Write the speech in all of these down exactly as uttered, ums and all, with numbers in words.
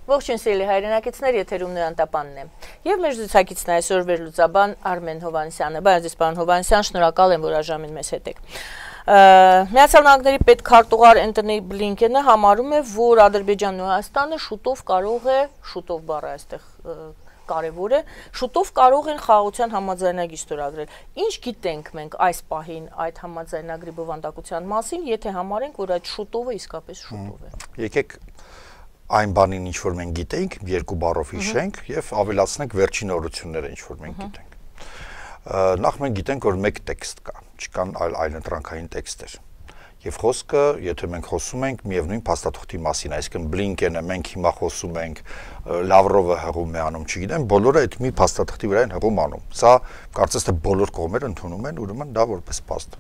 Ողջույն սիրելի հայրենակիցներ, եթերում Նոյան Տապանն է։ Եվ մեր զրուցակիցն է այսօր վերլուծաբան Արմեն Հովհաննիսյանը։ Բարև ձեզ, պարոն Հովհաննիսյան, շնորհակալ եմ, որ այժմ մեզ հետ եք։ Միացյալ Նահանգների պետքարտուղար Էնթոնի Բլինքենը համարում է, որ Ադրբեջանն ու Հայաստանը շուտով կարող է, շուտով բառը այստեղ կարևոր է, շուտով կարող են խաղաղության համաձայնագիր ստորագրել։ Ինչ գիտենք մենք այս պահին այդ համաձայնագրի բովանդակության մասին, եթե համարենք, որ այդ շուտովը իսկապես շուտով է։ Եկեք այն բանին, ինչ որ մենք գիտենք, երկու բառով հիշենք եւ ավելացնենք վերջին օրությունները, ինչ որ մենք գիտենք։ Նախ մենք գիտենք, որ մեկ տեքստ կա, չկան այլ այլընտրանքային տեքստեր։ Եվ խոսքը, եթե մենք խոսում ենք միևնույն փաստաթղթի մասին, այսինքն Բլինկենը, մենք հիմա խոսում ենք, Լավրովը հղում է անում, չգիտեմ, բոլորը այդ մի փաստաթղթի վրա են հղում անում։ Սա կարծես թե բոլոր կողմերը ընդունում են, ուրեմն դա որպես փաստ։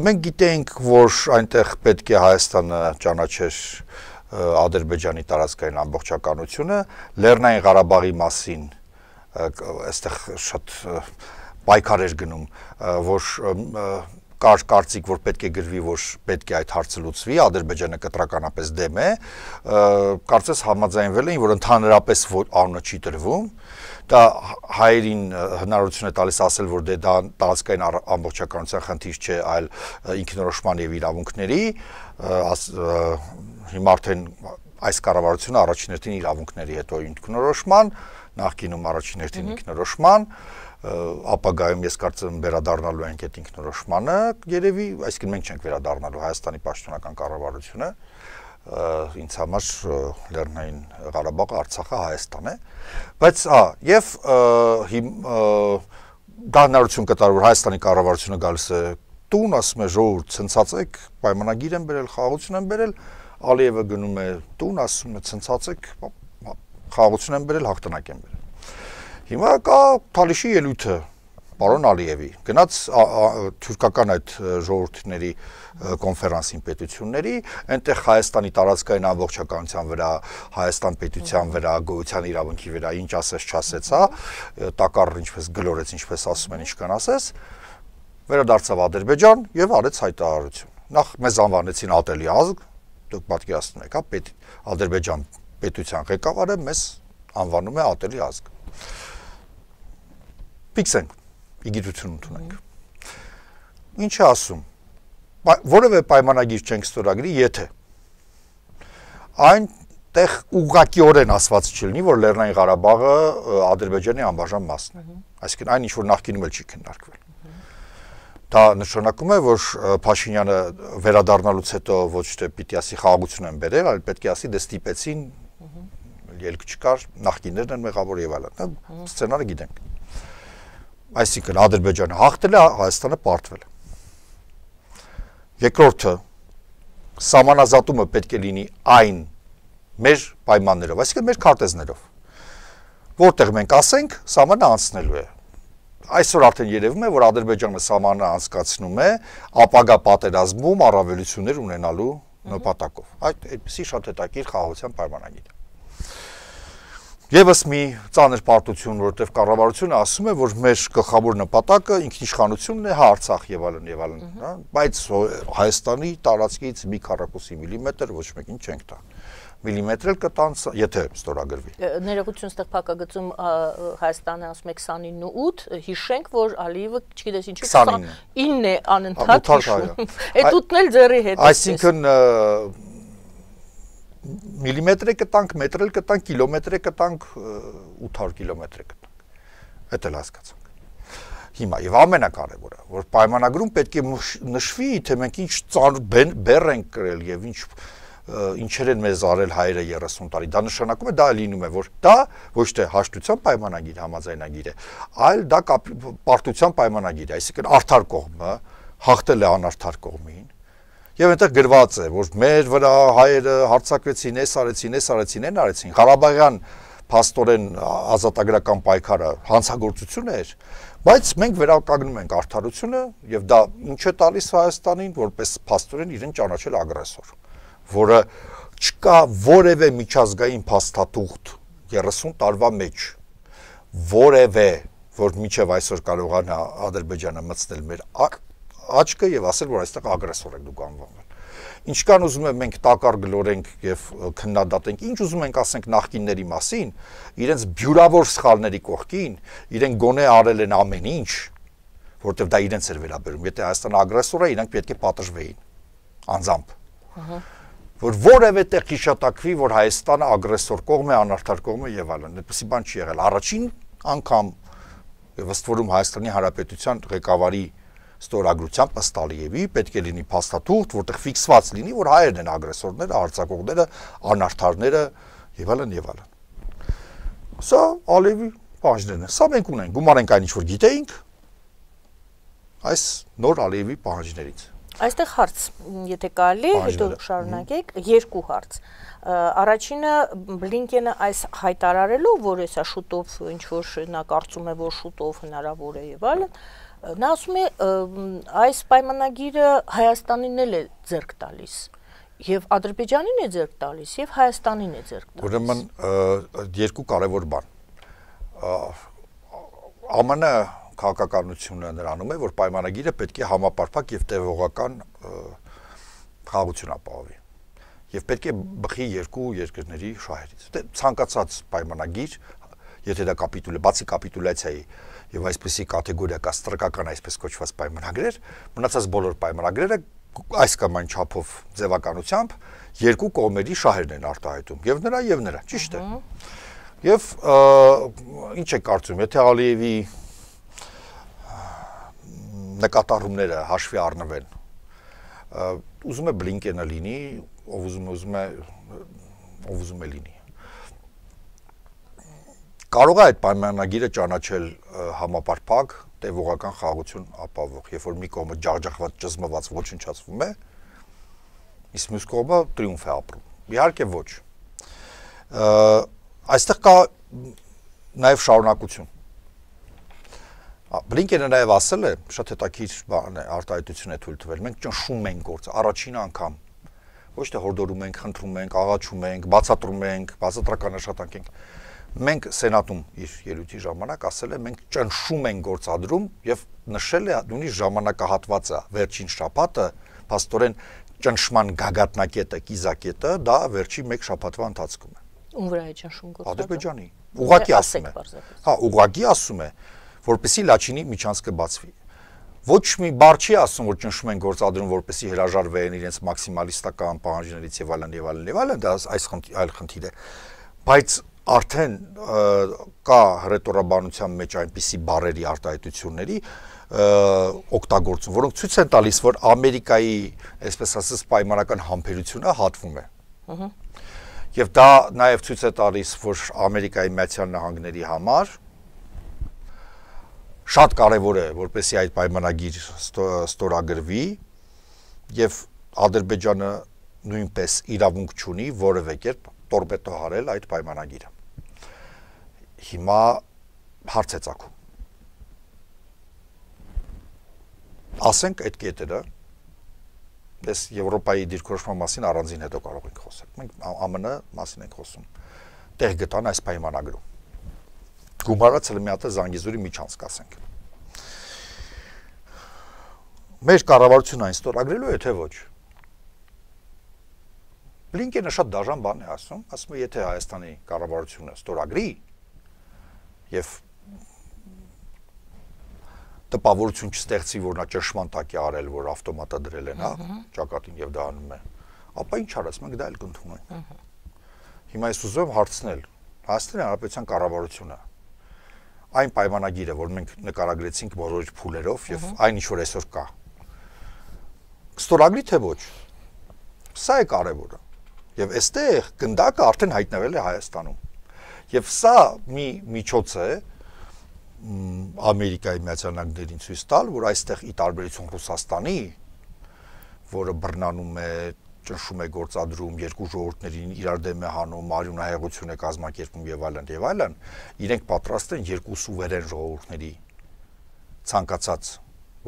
Մենք գիտենք, որ այնտեղ պետք է Հայաստանը ճանաչեր Ադրբեջանի տարածքային ամբողջականությունը, Լեռնային Ղարաբաղի մասին այստեղ շատ պայքար էր գնում, որ կար կարծիք, որ պետք է գրվի, որ պետք է այդ հարցը լուծվի, Ադրբեջանը կտրականապես դեմ է, կարծես համաձայնվել էին, որ ընդհանրապես անունը չի տրվում, դա հայերին հնարավորություն է տալիս ասել, որ դե դա տարածքային ամբողջականության խնդիր չէ, այլ ինքնորոշման եւ իրավունքների, հիմա արդեն այս կառավարությունը առաջին հերթին իրավունքների, հետո ինքնորոշման, նախկինում առաջին հերթին ինքնորոշման, ապագայում ես կարծում վերադառնալու ենք այդ ինքնորոշմանը, երևի, այսինքն մենք չենք վերադառնալու Հայաստանի պաշտոնական կառավարությունը, ինձ համար Լեռնային Ղարաբաղը, Արցախը Հայաստան է, բայց հա, եւ դա հնարավորություն կտար, որ Հայաստանի կառավարությունը գալիս է տուն, ասում է ժողովուրդ ցնցացեք, պայմանագիր են բերել, խաղաղություն են բերել, Ալիևը գնում է տուն, ասում է ցնցացեք, խաղաղություն են բերել, հաղթանակ են բերել։ Հիմա կա Թալիշի ելույթը, պարոն Ալիևի, գնաց թուրքական այդ ժողովուրդների կոնֆերանսին պետությունների, այնտեղ Հայաստանի տարածքային ամբողջականության վրա, Հայաստան պետության վրա, գոյության իրավունքի վրա ինչ ասես չասեց, հա, տակառ ինչպես գլորեց, ինչպես ասում են, ինչքան ասես, վերադարձավ Ադրբեջան եւ արեց հայտարարություն։ Նախ մեզ անվանեցին ատելի ազգ, դուք պատկերացնում եք, հա, պետ Ադրբեջան պետության ղեկավարը մեզ անվանում է ատելի ազգ։ Ֆիքսենք, իգիտություն ընդունենք։ Ինչ է ասում, որևէ պայմանագիր չենք ստորագրի, եթե այնտեղ ուղղակիորեն ասված չլինի, որ Լեռնային Ղարաբաղը Ադրբեջանի անբաժան մասն է, այսինքն այն ինչ որ նախկինում էլ չի քննարկվել։ Դա նշանակում է, որ Փաշինյանը վերադառնալուց հետո ոչ թե պիտի ասի խաղաղություն են բերել, այլ պետք է ասի դե ստիպեցին, ելք չկար, նախկիններն են մեղավոր եւ այլն, սցենարը գիտենք։ Այսինքն Ադրբեջանը հաղթել է, Հայաստանը պարտվել է։ Երկրորդը, սահմանազատումը պետք է լինի այն մեր պայմաններով, այսինքն մեր քարտեզներով, որտեղ մենք ասենք, սահմանը անցնելու է։ Այսօր արդեն երևում է, որ Ադրբեջանը սահմանը անցկացնում է ապագա պատերազմում առավելություններ ունենալու նպատակով։ Այդ այդպիսի շատ հետաքրքիր խաղաղության պայմանագիր է։ Եվս մի ծանր պարտություն, որովհետև կառավարությունը ասում է, որ մեր գլխավոր նպատակը ինքնիշխանությունն է, հա Արցախ եւ այլն եւ այլն, հա, բայց Հայաստանի տարածքից մի քառակուսի միլիմետր ոչ մեկին չենք տա։ Միլիմետր էլ կտան, եթե ստորագրվի։ Ներողություն, ստեղ փակագծում Հայաստանը ասում է քսանինը ութ, հիշենք, որ Ալիևը, չգիտես ինչու քսանինը է անընդհատ հիշում։ Այդ ութն էլ ձեռի հետ է։ Այսինքն միլիմետր է կտանք, մետր էլ կտանք, կիլոմետր է կտանք, ութ հարյուր կիլոմետր է կտանք։ Էդ էլ հասկացանք։ Հիմա եւ ամենակարևորը, որ պայմանագրում պետք է նշվի, թե մենք ինչ ծանր բեռ ենք կրել եւ ինչ ինչեր են մեզ արել հայերը երեսուն տարի, դա նշանակում է, դա լինում է, որ դա ոչ թե հաշտության պայմանագիր, համաձայնագիր է, այլ դա պարտության պայմանագիր է, այսինքն արդար կողմը հաղթել է անարդար կողմին, եւ այնտեղ գրված է, որ մեր վրա հայերը հարձակվեցին, էս արեցին, էս արեցին, այն արեցին, Ղարաբաղյան փաստորեն ազատագրական պայքարը հանցագործություն էր, բայց մենք վերականգնում ենք արդարությունը եւ դա ինչ է տալիս Հայաստանին, որպես փաստորեն իրեն ճանաչել ագրեսոր, որը չկա որևէ միջազգային փաստաթուղթ երեսուն տարվա մեջ, որևէ, որ միջև այսօր կարողանա Ադրբեջանը մտցնել մեր աչքը եւ ասել, որ այստեղ ագրեսոր եք դուք անվանվել։ ինչքան ուզում եմ մենք տակար գլորենք եւ քննադատենք, ինչ ուզում ենք ասենք նախկինների մասին, իրենց բյուրավոր սխալների կողքին, իրենք գոնե արել են ամեն ինչ, որտեղ դա իրենց էր վերաբերում։ Եթե Հայաստանը ագրեսոր է, իրանք պետք է պատժվեին անձամբ։ Որ որևէ տեղ հիշատակվի, որ Հայաստանը ագրեսոր կողմ է, անարդար կողմ է եւ այլն։ Այդպեսի բան չի եղել։ Առաջին անգամ եւ ըստ որում Հայաստանի Հանրապետության ղեկավարի ստորագրությամբ ըստ Ալիևի պետք է լինի փաստաթուղթ, որտեղ ֆիքսված լինի, որ հայերն են ագրեսորները, արձակողները, անարդարները եւ այլն եւ այլն։ Սա Ալիևի պահանջներն են։ Սա մենք ունենք, գումարենք այն ինչ որ գիտեինք այս նոր Ալիևի պահանջներից։ Այստեղ հարց, եթե կարելի, հետո շարունակեք, երկու հարց։ Առաջինը Բլինկենը այս հայտարարելով, որ հեսա շուտով ինչ որ նա կարծում է, որ շուտով հնարավոր է եւ այլն, նա ասում է այս պայմանագիրը Հայաստանին էլ է ձեռք տալիս եւ Ադրբեջանին է ձեռք տալիս եւ Հայաստանին է ձեռք տալիս։ Ուրեմն երկու կարևոր բան։ ԱՄՆ քաղաքականությունը նրանում է, որ պայմանագիրը պետք է համապարփակ եւ տևողական խաղաղություն ապահովի։ Եվ պետք է բխի երկու երկրների շահերից։ Դե ցանկացած պայմանագիր, եթե դա կապիտուլ է, բացի կապիտուլյացիայի եւ այսպեսի կատեգորիա կա ստրկական այսպես կոչված պայմանագրեր, մնացած բոլոր պայմանագրերը այս կամ այն չափով ձևականությամբ երկու կողմերի շահերն են արտահայտում, եւ նրա եւ նրա, ճիշտ է։ Եվ ինչ է կարծում, եթե Ալիևի նկատառումները հաշվի առնվեն, ուզում է Բլինկենը լինի, ով ուզում է, ուզում է, ով ուզում է լինի։ Կարող է այդ պայմանագիրը ճանաչել համապարփակ, տևողական խաղաղություն ապահովող, երբ որ մի կողմը ջախջախված, ճզմված ոչնչացվում է, իսկ մյուս կողմը տրիումֆ է ապրում։ Իհարկե ոչ։ Այստեղ կա նաև շարունակություն։ Բլինկենը նաև ասել է, շատ հետաքրքիր բան է, արտահայտություն է թույլ տվել, մենք ճնշում ենք գործը, առաջին անգամ, ոչ թե հորդորում ենք, խնդրում ենք, աղաչում ենք, բացատրում ենք, բացատրական աշխատանք ենք։ Մենք Սենատում իր ելույթի ժամանակ ասել է, մենք ճնշում ենք գործադրում եւ նշել է նույնիսկ ժամանակահատվածը, վերջին շաբաթը, փաստորեն ճնշման գագաթնակետը, կիզակետը, դա վերջի մեկ շաբաթվա ընթացքում է։ Ում վրա է ճնշում գործադրում։ Ադրբեջանի։ Ուղղակի ասում է։ Հա, ուղղակի ասում է, որպեսի Լաչինի միջանցքը բացվի։ Ոչ մի բառ չի ասում, որ ճնշում են գործադրում, որպեսի հրաժարվեն իրենց մաքսիմալիստական պահանջներից եւ այլն եւ այլն եւ այլն, դա այս այլ խնդիր է։ Բայց արդեն կա հռետորաբանության մեջ այնպիսի բառերի արտահայտությունների օգտագործում, որոնք ցույց են տալիս, որ Ամերիկայի, այսպես ասած, պայմանական համբերությունը հատվում է։ Եվ դա նաև ցույց է տալիս, որ Ամերիկայի Միացյալ Նահանգների համար շատ կարևոր է, որպեսզի այդ պայմանագիր ստորագրվի եւ Ադրբեջանը նույնպես իրավունք չունի որևէ կերպ տորպեդո հարել այդ պայմանագիրը։ Հիմա հարց է ծագում։ Ասենք այդ կետերը, դες Եվրոպայի դիրքորոշման մասին առանձին հետո կարող ենք խոսել։ Մենք ԱՄՆ մասին ենք խոսում։ Տեղ գտան այս պայմանագրում։ Գումարած էլ մի հատ Զանգեզուրի միջանցք ասենք։ Մեր կառավարությունը այն ստորագրելու է, թե ոչ։ Բլինկենը շատ դաժան բան է ասում, ասում է, եթե Հայաստանի կառավարությունը ստորագրի եւ տպավորություն չստեղծի, որ նա ճնշման տակ է արել, որ ավտոմատը դրել են, հա, ճակատին եւ դա անում է, ապա ինչ արած, մենք դա էլ կընդունենք։ Հիմա ես ուզում եմ հարցնել Հայաստանի Հանրապետության կառավարությունը այն պայմանագիրը, որ մենք նկարագրեցինք բոլոր փուլերով եւ այն ինչ որ այսօր կա, ստորագրի թե ոչ։ Սա է կարևորը։ Եվ այստեղ գնդակը արդեն հայտնվել է Հայաստանում։ Եվ սա մի միջոց է Ամերիկայի Միացյալ Նահանգներին ցույց տալ, որ այստեղ ի տարբերություն Ռուսաստանի, որը բռնանում է, ճնշում է գործադրում, երկու ժողովուրդներին իրար դեմ է հանում, արյունահեղություն է կազմակերպում եւ այլն եւ այլն, իրենք պատրաստ են երկու սուվերեն ժողովուրդների ցանկացած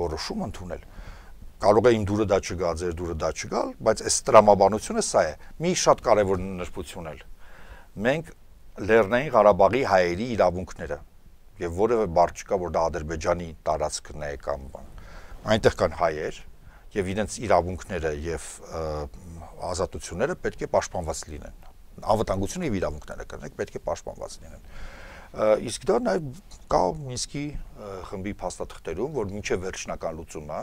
որոշում ընդունել։ Կարող է իմ դուրը դա չգա, ձեր դուրը դա չգալ, բայց այս տրամաբանությունը սա է։ Մի շատ կարևոր նրբություն էլ։ Մենք Լեռնային Ղարաբաղի հայերի իրավունքները եւ որևէ բառ չկա, որ դա Ադրբեջանի տարածքն է կամ բան։ Այնտեղ կան հայեր եւ իրենց իրավունքները եւ ազատությունները պետք է պաշտպանված լինեն։ Անվտանգությունը եւ իրավունքները կրնեք պետք է պաշտպանված լինեն։ Իսկ դա նաեւ կա Մինսկի խմբի փաստաթղթերում, որ մինչեւ վերջնական լուծումը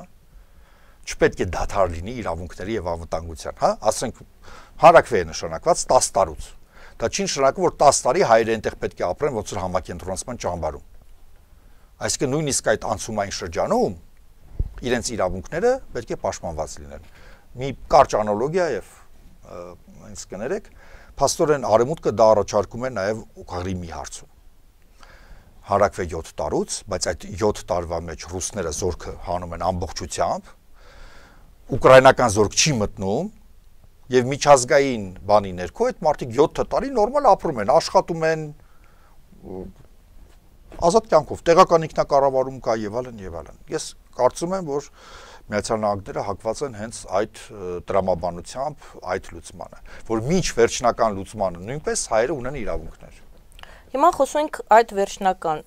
չպետք է դադար լինի իրավունքների եւ անվտանգության, հա, ասենք հարակվե է նշանակված տասը տարուց։ Դա չի նշանակում, որ տասը տարի հայերը այնտեղ պետք է ապրեն ոնց որ համակենտրոնացման ճամբարում։ Այսինքն նույնիսկ այդ անցումային շրջանում իրենց իրավունքները պետք է պաշտպանված լինեն։ Մի կարճ անալոգիա եւ ինձ կներեք, փաստորեն արևմուտքը դա առաջարկում է նաեւ Ղրիմի հարցում։ Հարակվե յոթ տարուց, բայց այդ յոթ տարվա մեջ ռուսները զորքը հանում են ամբողջությամբ, ուկրաինական զորք չի մտնում եւ միջազգային բանի ներքո այդ մարդիկ յոթ տարի նորմալ ապրում են, աշխատում են ազատ կյանքով, տեղական ինքնակառավարում կա եւ այլն եւ այլն։ Ես կարծում եմ, որ Միացյալ Նահանգները հակված են հենց այդ տրամաբանությամբ, այդ լուծմանը, որ մինչ վերջնական լուծմանը նույնպես հայերը ունեն իրավունքներ։ Հիմա խոսում ենք այդ վերջնական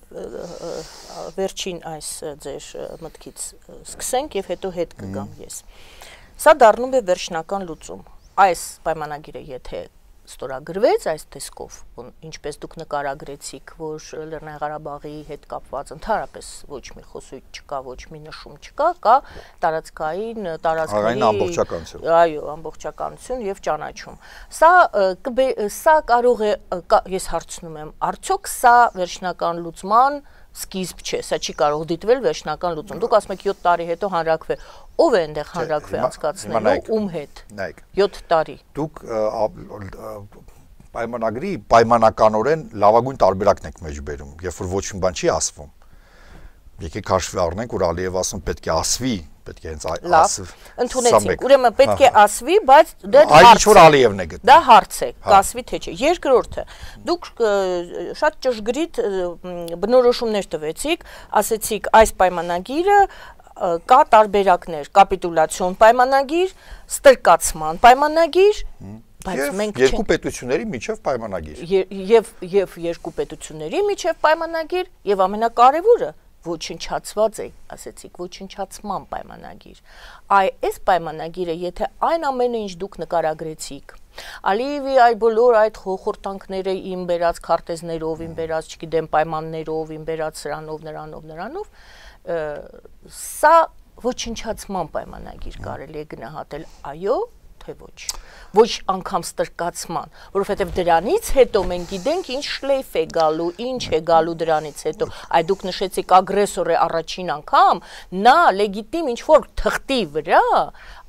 վերջին այս ձեր մտքից սկսենք եւ հետո հետ կգամ ես։ Սա դառնում է վերջնական լուծում։ Այս պայմանագիրը եթե ստորագրվեց այս տեսքով, ինչպես դուք նկարագրեցիք, որ Լեռնային Ղարաբաղի հետ կապված ընդհանրապես ոչ մի խոսույթ չկա, ոչ մի նշում չկա, կա տարածքային տարածքների ամբողջականություն։ Այո, ամբողջականություն եւ ճանաչում։ Սա սա կարող է, ես հարցնում եմ, արդյոք սա վերջնական լուծման սկիզբ չէ, սա չի կարող դիտվել վերջնական լուծում։ Դուք ասում եք յոթ տարի հետո հանրակրվե։ Ով է այնտեղ հանրակրվե անցկացնելու, ում հետ։ յոթ տարի։ Դուք պայմանագրի պայմանականորեն լավագույն տարբերակն եք մեջ բերում, երբ որ ոչ մի բան չի ասվում։ Եկեք հաշվի առնենք, որ Ալիևը ասում պետք է ասվի, պետք է հենց ասվի։ Ընդունեցինք, ուրեմն պետք է ասվի, բայց դա հարց է։ Այլ ինչ-որ Ալիևն է գտնում։ Դա հարց է, կասվի թե չէ։ Երկրորդը, դուք շատ ճշգրիտ բնորոշումներ տվեցիք, ասեցիք այս պայմանագիրը կա տարբերակներ, կապիտուլյացիոն պայմանագիր, ստրկացման պայմանագիր, բայց մենք երկու պետությունների միջև պայմանագիր։ Եվ եւ երկու պետությունների միջև պայմանագիր եւ ամենակարևորը ոչնչացված է, ասեցիք, ոչնչացման պայմանագիր։ Այ այս պայմանագիրը, եթե այն ամենը ինչ դուք նկարագրեցիք, Ալիևի այ բոլոր այդ խորտանքները իմ բերած քարտեզներով, իմ բերած, չգիտեմ, պայմաններով, իմ բերած սրանով, նրանով, նրանով, սա ոչնչացման պայմանագիր կարելի է գնահատել, այո, թե ոչ։ Ոչ անգամ ստրկացման, որովհետև դրանից հետո մենք գիտենք ինչ շլեյֆ է գալու, ինչ է գալու դրանից հետո։ Այ դուք նշեցիք ագրեսոր է առաջին անգամ, նա լեգիտիմ ինչ որ թղթի վրա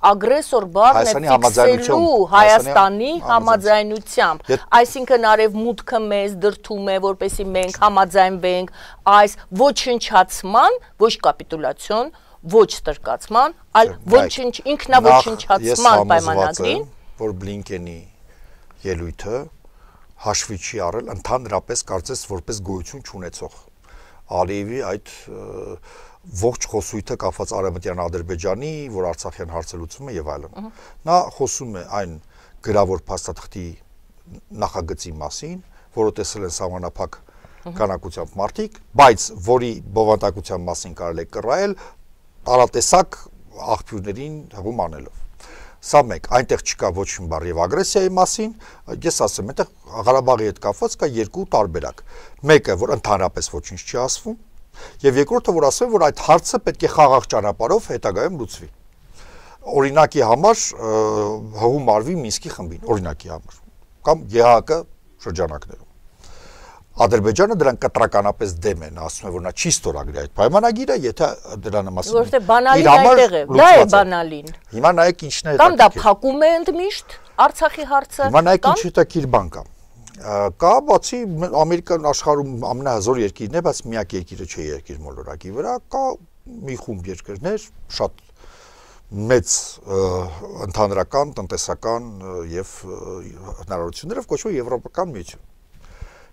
ագրեսոր բառն է ֆիքսելու Հայաստանի համաձայնությամբ, այսինքն արևմուտքը մեզ դրդում է, որպեսզի մենք համաձայնվենք այս ոչնչացման, ոչ կապիտուլյացիոն, ոչ ստրկացման, այլ ոչինչ ինքնաոչնչացման պայմանագրին, որ Բլինկենի ելույթը հաշվի չի առել ընդհանրապես կարծես որպես գոյություն չունեցող Ալիևի այդ ողջ խոսույթը կապված Արևմտյան Ադրբեջանի, որ Արցախյան հարցը լուծում է եւ այլն։ Նա խոսում է այն գրավոր փաստաթղթի նախագծի մասին, որը տեսել են սահմանափակ քանակությամբ մարդիկ, բայց որի բովանդակության մասին կարելի է կռահել տարատեսակ աղբյուրներին հղում անելով։ Սա մեկ, այնտեղ չկա ոչ մի բառ եւ ագրեսիայի մասին, ես ասեմ, այնտեղ Ղարաբաղի հետ կապված կա երկու տարբերակ։ Մեկը, որ ընդհանրապես ոչինչ չի ասվում, եւ երկրորդը, որ ասում որ այդ հարցը պետք է խաղաղ ճանապարհով հետագայում լուծվի։ Օրինակի համար հղում արվի Մինսկի խմբին, օրինակի համար, կամ ԵՀԿ շրջանակներում։ Ադրբեջանը դրան կտրականապես դեմ են, ասում է, որ նա չի ստորագրի այդ պայմանագիրը, եթե դրան մասին որովհետեւ բանալին այդտեղ է, դա է բանալին։ Հիմա նայեք ինչն է հետաքրքիր։ Կամ դա փակում է ընդմիշտ Արցախի հարցը։ Հիմա նայեք ինչ հետաքրքիր բան կա։ Կա բացի Ամերիկան աշխարհում ամենահզոր երկիրն է, բայց միակ երկիրը չէ երկիր մոլորակի վրա, կա մի խումբ երկրներ, շատ մեծ ընդհանրական տնտեսական եւ հնարավորություններով կոչվում Եվրոպական միություն։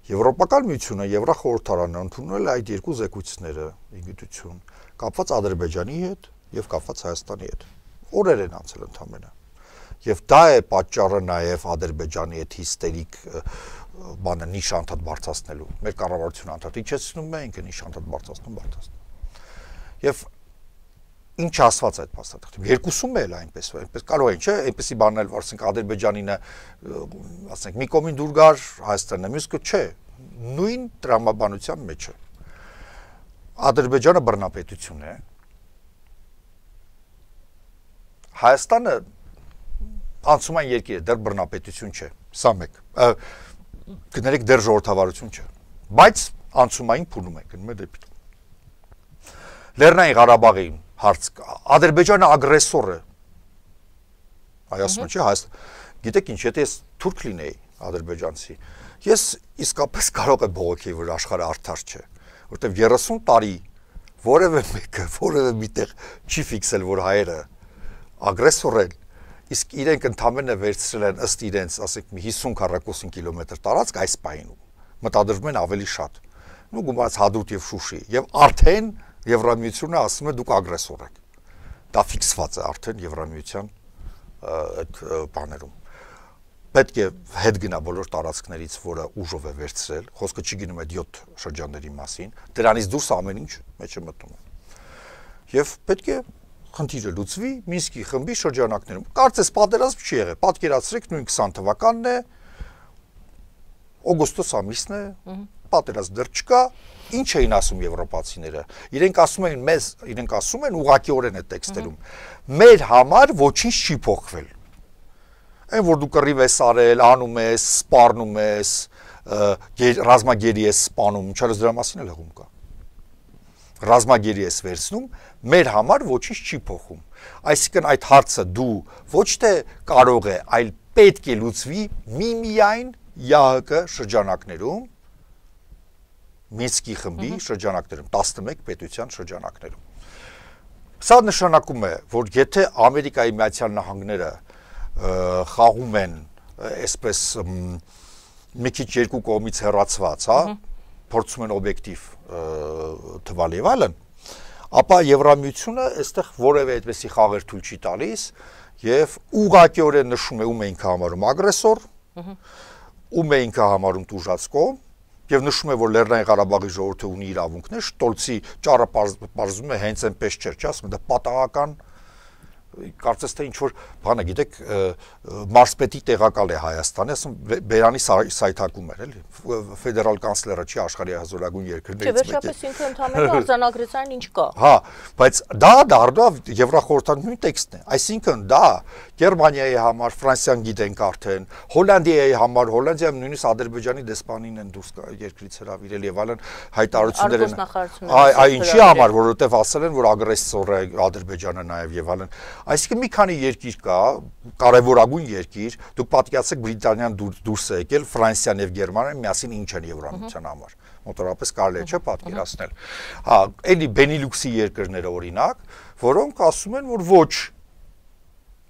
Եվրոպական միությունը, Եվրախորհրդարանը ընդունել է այդ երկու զեկույցները, իգիտություն, կապված Ադրբեջանի հետ եւ կապված Հայաստանի հետ։ Օրեր են անցել ընդամենը։ Եվ դա է պատճառը նաեւ Ադրբեջանի հետ հիստերիկ բանը նիշ անդադ բարձրացնելու։ Մեր կառավարությունը անդադ իջեցնում է, ինքը նիշ անդադ բարձրացնում, բարձրացնում։ Եվ ինչ ասված այդ փաստաթղթում։ Երկուսում էլ այնպես, այնպես կարող են, չէ, այնպեսի բանել, ասենք Ադրբեջանինը, ասենք մի կողմին դուր գար Հայաստանն է, մյուս կողմը չէ, նույն տրամաբանության մեջ է։ Ադրբեջանը բռնապետություն է։ Հայաստանը անցումային երկիր է, դեռ բռնապետություն չէ, սա մեկ։ Գներեք դեռ ժողովրդավարություն չէ, բայց անցումային փուլում է, գնում է դեպի։ Լեռնային Ղարաբաղի հարց, Ադրբեջանը ագրեսոր է։ Հայաստանը չէ, Հայաստան։ Գիտեք ինչ, եթե ես թուրք լինեի ադրբեջանցի, ես իսկապես կարող եմ բողոքեի, որ աշխարհը արդար չէ, որտեղ երեսուն տարի որևէ մեկը, որևէ միտեղ չի ֆիքսել, որ հայերը ագրեսոր են, իսկ իրենք ընդամենը վերցրել են ըստ իրենց, ասենք մի հիսուն քառակուսին կիլոմետր տարածք այս պահին, մտադրվում են ավելի շատ։ Ու գումարած Հադրութ եւ Շուշի, եւ արդեն Եվրամիությունը ասում է դուք ագրեսոր եք։ Դա ֆիքսված է արդեն Եվրամիության այդ բաներում։ Պետք է հետ գնա բոլոր տարածքներից, որը ուժով է վերցրել, խոսքը չի գնում այդ յոթ շրջանների մասին, դրանից դուրս ամեն ինչ մեջ է մտնում։ Եվ պետք է խնդիրը լուծվի Մինսկի խմբի շրջանակներում։ Կարծես պատերազմ չի եղել, պատկերացրեք նույն քսան թվականն է, օգոստոս ամիսն է, պատերազմ դեռ չկա, ինչ էին ասում եվրոպացիները։ Իրենք ասում են մեզ, իրենք ասում են ուղղակիորեն է տեքստերում։ Մեր համար ոչինչ չի փոխվել։ Այն որ դու կռիվ ես արել, անում ես, սպառնում ես, ռազմագերի ես սպանում, ինչարս դրա մասին էլ հղում կա։ Ռազմագերի ես վերցնում, մեր համար ոչինչ չի փոխում։ Այսինքն այդ հարցը դու ոչ թե կարող է, այլ պետք է լուծվի միմիայն ԵԱՀԿ շրջանակներում, Մինսկի խմբի շրջանակներում, տասնմեկ պետության շրջանակներում։ Սա նշանակում է, որ եթե Ամերիկայի Միացյալ Նահանգները խաղում են այսպես մի քիչ երկու կողմից հեռացված, հա, փորձում են օբյեկտիվ թվալ եւ այլն, ապա Եվրամիությունը այստեղ որևէ այդպեսի խաղեր թույլ չի տալիս եւ ուղղակիորեն նշում է ում է ինքը համարում ագրեսոր, ում է ինքը համարում տուժած կողմ եւ նշում է, որ Լեռնային Ղարաբաղի ժողովուրդը ունի իրավունքներ, Շտոլցի ճառը պարզվում է հենց այնպես չէր, չի ասում, դա պատահական կարծես թե ինչ որ բանը գիտեք մարզպետի տեղակալ է Հայաստանի, ասում Բերանի սայթակում էր, էլի ֆեդերալ կանցլերը չի աշխարհի հզորագույն երկրներից մեկը։ Չէ, վերջապես ինքը ընդհանրապես արձանագրեց այն ինչ կա։ Հա, բայց դա դառնավ Եվրախորհրդանի նույն տեքստն է, այսինքն դա Գերմանիայի համար, Ֆրանսիան գիտենք արդեն, Հոլանդիայի համար, Հոլանդիայում նույնիսկ Ադրբեջանի դեսպանին են դուրս երկրից հրավիրել եւ այլն հայտարարություններ են։ Այ ինչի համար, որովհետեւ ասել են, որ ագրեսոր է Ադրբեջանը նաեւ եւ այլն։ Այսինքն մի քանի երկիր կա, կարևորագույն երկիր, դուք պատկերացրեք Բրիտանիան դուրս է եկել, Ֆրանսիան եւ Գերմանիան միասին ինչ են Եվրամիության համար։ Մոտորապես կարելի է չէ պատկերացնել։ Հա, էլի Բենիլյուքսի երկրները օրինակ, որոնք ասում են, որ ոչ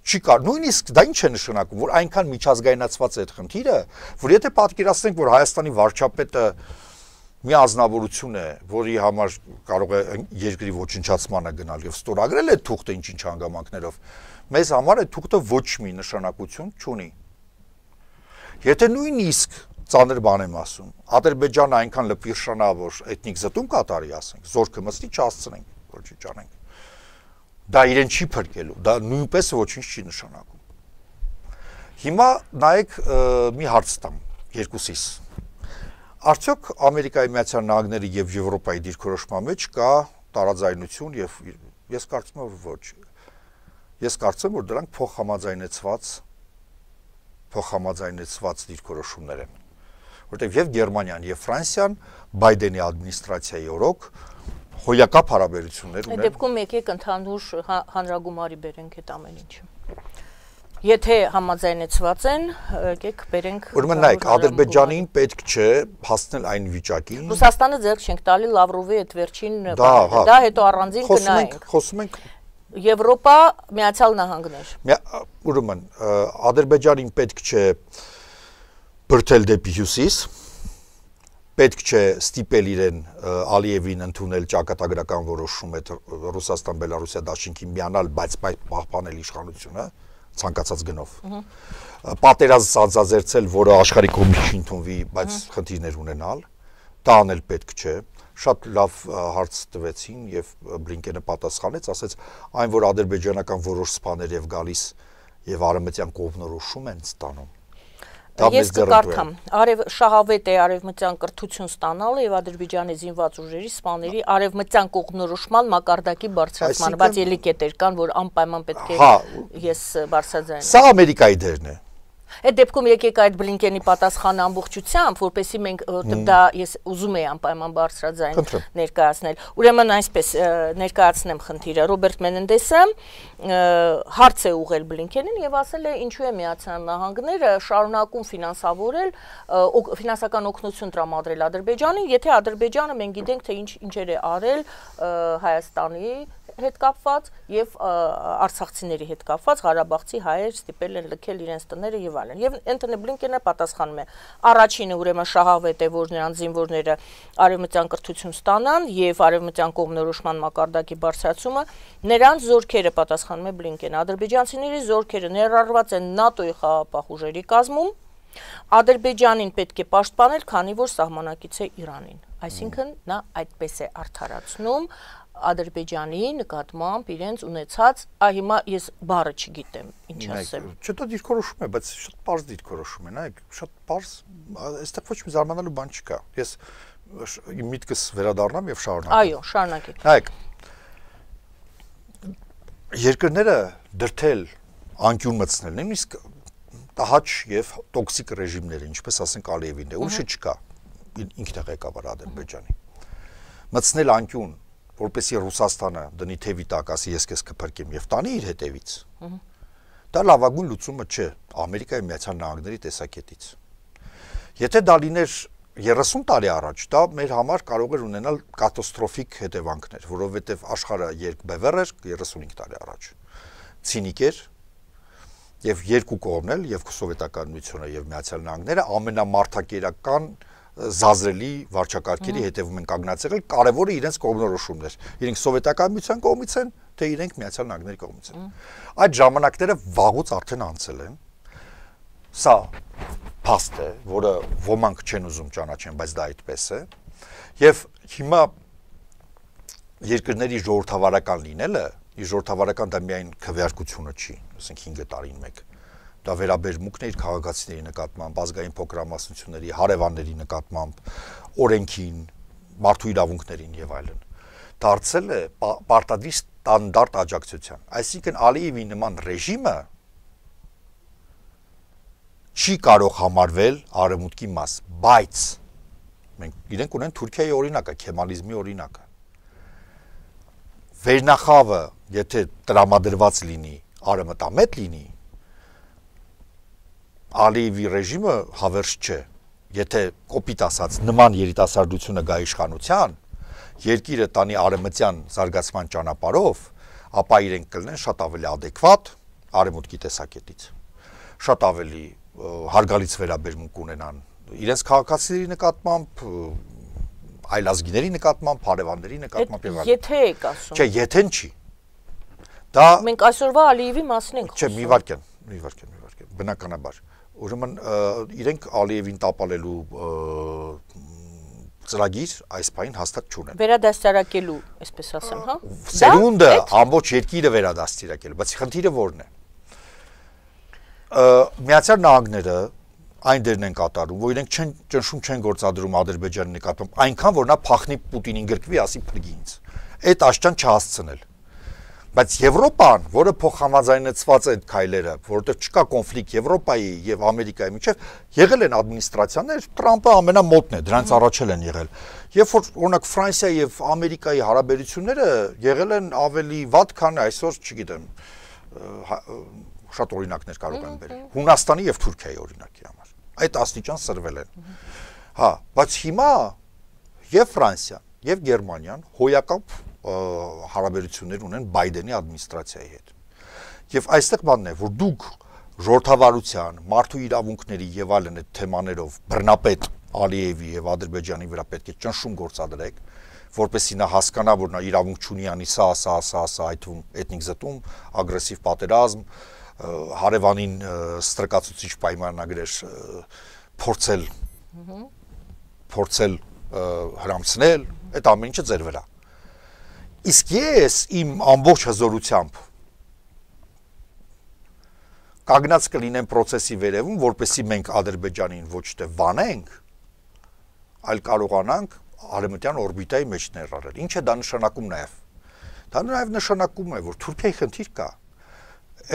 չի կար, նույնիսկ դա ինչ է նշանակում, որ այնքան միջազգայնացված է այդ խնդիրը, որ եթե պատկերացնենք, որ Հայաստանի վարչապետը մի ազնվորություն է, որի համար կարող է երկրի ոչնչացմանը գնալ եւ ստորագրել է թուղթը ինչ-ինչ հանգամանքներով, մեզ համար այդ թուղթը ոչ մի նշանակություն չունի։ Եթե նույնիսկ ծանր բան եմ ասում, Ադրբեջանը այնքան լպիրշանա, որ էթնիկ զտում կատարի, ասենք, զորքը մստի չհասցնենք, որ չի ճանենք։ Դա իրեն չի փրկելու, դա նույնպես ոչինչ չի նշանակում։ Հիմա նայեք մի հարց տամ երկուսիս։ Արդյոք Ամերիկայի Միացյալ Նահանգների եւ Եվրոպայի դիրքորոշման մեջ կա տարաձայնություն եւ ես կարծում եմ, որ ոչ։ Ես կարծում եմ, որ դրանք փոխհամաձայնեցված փոխհամաձայնեցված դիրքորոշումներ են։ Որտեղ եւ Գերմանիան եւ Ֆրանսիան Բայդենի ադմինիստրացիայի օրոք հոյակապ հարաբերություններ ունեն։ Այդ դեպքում եկեք ընդհանուր հանրագումարի բերենք այդ ամեն ինչը։ Եթե համաձայնեցված են, եկեք բերենք։ Ուրեմն նայեք, Ադրբեջանին պետք չէ հասնել այն վիճակին։ Ռուսաստանը ձեռք չենք տալի Լավրովի այդ վերջին բանը, դա հետո առանձին կնայենք։ Խոսում ենք Եվրոպա, Միացյալ Նահանգներ։ Ուրեմն Ադրբեջանին պետք չէ բրթել դեպի հյուսիս, պետք չէ ստիպել իրեն Ալիևին ընդունել ճակատագրական որոշում այդ Ռուսաստան-Բելարուսիա դաշինքին միանալ, բայց պահպանել իշխանությունը ցանկացած գնով։ Պատերազմ սանձազերծել, որը աշխարհի կողմից չի ընդունվի, բայց խնդիրներ ունենալ, դա անել պետք չէ։ շատ լավ հարց տվեցին եւ Բլինկենը պատասխանեց, ասեց այն որ ադրբեջանական որոշ սպաներ եւ գալիս եւ արևմտյան կողմնորոշում են ստանում։ Ես կկարդամ, արև շահավետ է արևմտյան կրթություն ստանալը եւ Ադրբեջանի զինված ուժերի սպաների արևմտյան կողմնորոշման մակարդակի բարձրացմանը, բայց ելի կետեր կան, որ անպայման պետք է ես բարձրաձայնեմ։ Սա Ամերիկայի դերն է։ Այդ դեպքում եկեք այդ Բլինկենի պատասխանը ամբողջությամբ, որպեսզի մենք դա ես ուզում եի անպայման բարձրաձայն ներկայացնել։ Ուրեմն այսպես ներկայացնեմ խնդիրը։ Ռոբերտ Մենենդեսը հարց է ուղղել Բլինկենին եւ ասել է ինչու է Միացյալ Նահանգները շարունակում ֆինանսավորել ֆինանսական օգնություն տրամադրել Ադրբեջանին, եթե Ադրբեջանը մենք գիտենք թե ինչ ինչեր է արել Հայաստանի հետ կապված եւ արցախցիների հետ կապված Ղարաբաղցի հայեր ստիպել են լքել իրենց տները եւ այլն։ Եվ Անթոնի Բլինկենը պատասխանում է. առաջինը ուրեմն շահավետ է, որ նրանց զինվորները արևմտյան կրթություն ստանան եւ արևմտյան կողմնորոշման մակարդակի բարձրացումը նրանց զորքերը, պատասխանում է Բլինկենը, ադրբեջանցիների զորքերը ներառված են ՆԱՏՕ-ի խաղաղապահ ուժերի կազմում, Ադրբեջանին պետք է պաշտպանել, քանի որ սահմանակից է Իրանին։ Այսինքն նա այդպես է արդարացնում Ադրբեջանի նկատմամբ իրենց ունեցած, այ հիմա ես բառը չգիտեմ, ինչ ասեմ։ Չտա դիրքորոշում է, բայց շատ པարզ դիրքորոշում է, նայեք, շատ པարզ, այստեղ ոչ մի զարմանալու բան չկա։ Ես իմ միտքս վերադառնամ եւ շարունակեմ։ Այո, շարունակեք։ Նայեք, երկրները դրթել, անկյուն մտցնել, նույնիսկ տահաճ եւ տոքսիկ ռեժիմները, ինչպես ասենք Ալիևին, ուրիշը չկա, ինքն է ղեկավար Ադրբեջանի։ Մտցնել անկյուն, որպեսզի Ռուսաստանը դնի թևի տակ, ասի ես քեզ կփրկեմ եւ տանի իր հետևից։ Դա լավագույն լուծումը չէ Ամերիկայի Միացյալ Նահանգների տեսակետից։ Եթե դա լիներ երեսուն տարի առաջ, դա մեր համար կարող էր ունենալ կատաստրոֆիկ հետևանքներ, որովհետեւ աշխարհը երկբևեռ էր երեսունհինգ տարի առաջ։ Ցինիկ էր եւ երկու կողմն էլ, եւ Սովետական Միությունը եւ Միացյալ Նահանգները ամենամարդակերական զազրելի վարչակարգերի հետևում են կանգնած եղել, կարևորը իրենց կողմնորոշումներ։ Իրենք Սովետական Միության կողմից են, թե իրենք Միացյալ Նահանգների կողմից են։ Այդ ժամանակները վաղուց արդեն անցել են։ Սա փաստ է, որը ոմանք չեն ուզում ճանաչեն, բայց դա այդպես է։ Եվ հիմա երկրների ժողովրդավարական լինելը, ի ժողովրդավարական դա միայն քվեարկությունը չի, ասենք հինգ տարին մեկ։ Դա վերաբերմունքն է իր քաղաքացիների նկատմամբ, ազգային փոքրամասնությունների, հարևանների նկատմամբ, օրենքին, մարդու իրավունքներին եւ այլն։ Դարձել է պարտադիր ստանդարտ աջակցության։ Այսինքն Ալիևի նման ռեժիմը չի կարող համարվել արևմուտքի մաս, բայց մենք իրենք ունեն Թուրքիայի օրինակը, քեմալիզմի օրինակը։ Վերնախավը, եթե տրամադրված լինի, արևմտամետ լինի, Ալիևի ռեժիմը հավերժ չէ, եթե կոպիտ ասած նման երիտասարդությունը գա իշխանության, երկիրը տանի արևմտյան զարգացման ճանապարհով, ապա իրենք կլինեն շատ ավելի adekvat արևմուտքի տեսակետից, շատ ավելի հարգալից վերաբերմունք ունենան իրենց քաղաքացիների նկատմամբ, այլազգիների նկատմամբ, հարևանների նկատմամբ եւ այլն։ Եթե եք ասում։ Չէ, եթեն չի։ Դա մենք այսօրվա Ալիևի մասին ենք խոսում։ Չէ, մի վարքան, մի վարքան, մի վարքան, բնականաբար։ Ուրեմն իրենք Ալիևին տապալելու ծրագիր այս պայն հաստատ չունեն։ Վերադաստիարակելու, այսպես ասեմ, հա։ Սերունդը ամբողջ երկիրը վերադաստիարակելու, բայց խնդիրը ո՞րն է։ Միացյալ Նահանգները այն դերն են կատարում, որ իրենք չեն ճնշում չեն գործադրում Ադրբեջանի նկատմամբ, այնքան որ նա փախնի Պուտինին գրկվի, ասի փրկի ինձ։ Այդ աշճան չհասցնել։ Բայց Եվրոպան, որը փոխհամաձայնեցված է այդ քայլերը, որովհետև չկա կոնֆլիկտ Եվրոպայի եւ Ամերիկայի միջեւ, եղել են ադմինիստրացիաներ, Թրամփը ամենամոտն է, դրանց առաջել են եղել։ Երբ որ օրինակ Ֆրանսիայի եւ Ամերիկայի հարաբերությունները եղել են ավելի վատ, քան այսօր, չգիտեմ, շատ օրինակներ կարող են բերել։ Հունաստանի եւ Թուրքիայի օրինակի համար։ Այդ աստիճան սրվել են։ Հա, բայց հիմա եւ Ֆրանսիան, եւ Գերմանիան հոյակապ հարաբերություններ ունեն Բայդենի ադմինիստրացիայի հետ։ Եվ այստեղ բանն է, որ դուք ժողովրդավարության, մարդու իրավունքների եւ այլն այդ թեմաներով բռնապետ Ալիևի եւ Ադրբեջանի վրա պետք է ճնշում գործադրեք, որպեսզի նա հասկանա, որ նա իրավունք չունի անի սա, սա, սա, սա, այդում էթնիկ զտում, ագրեսիվ պատերազմ, հարևանին ստրկացուցիչ պայմանագրեր փորձել փորձել հրամցնել, այդ ամեն ինչը ձեր վրա։ Իսկ ես իմ ամբողջ հզորությամբ կանգնած կլինեմ process-ի վերևում, որպեսզի մենք Ադրբեջանին ոչ թե վանենք, այլ կարողանանք արևմտյան օրբիտայի մեջ ներառել։ Ինչ է դա նշանակում նաև։ Դա նաև նշանակում է, որ Թուրքիայի խնդիր կա։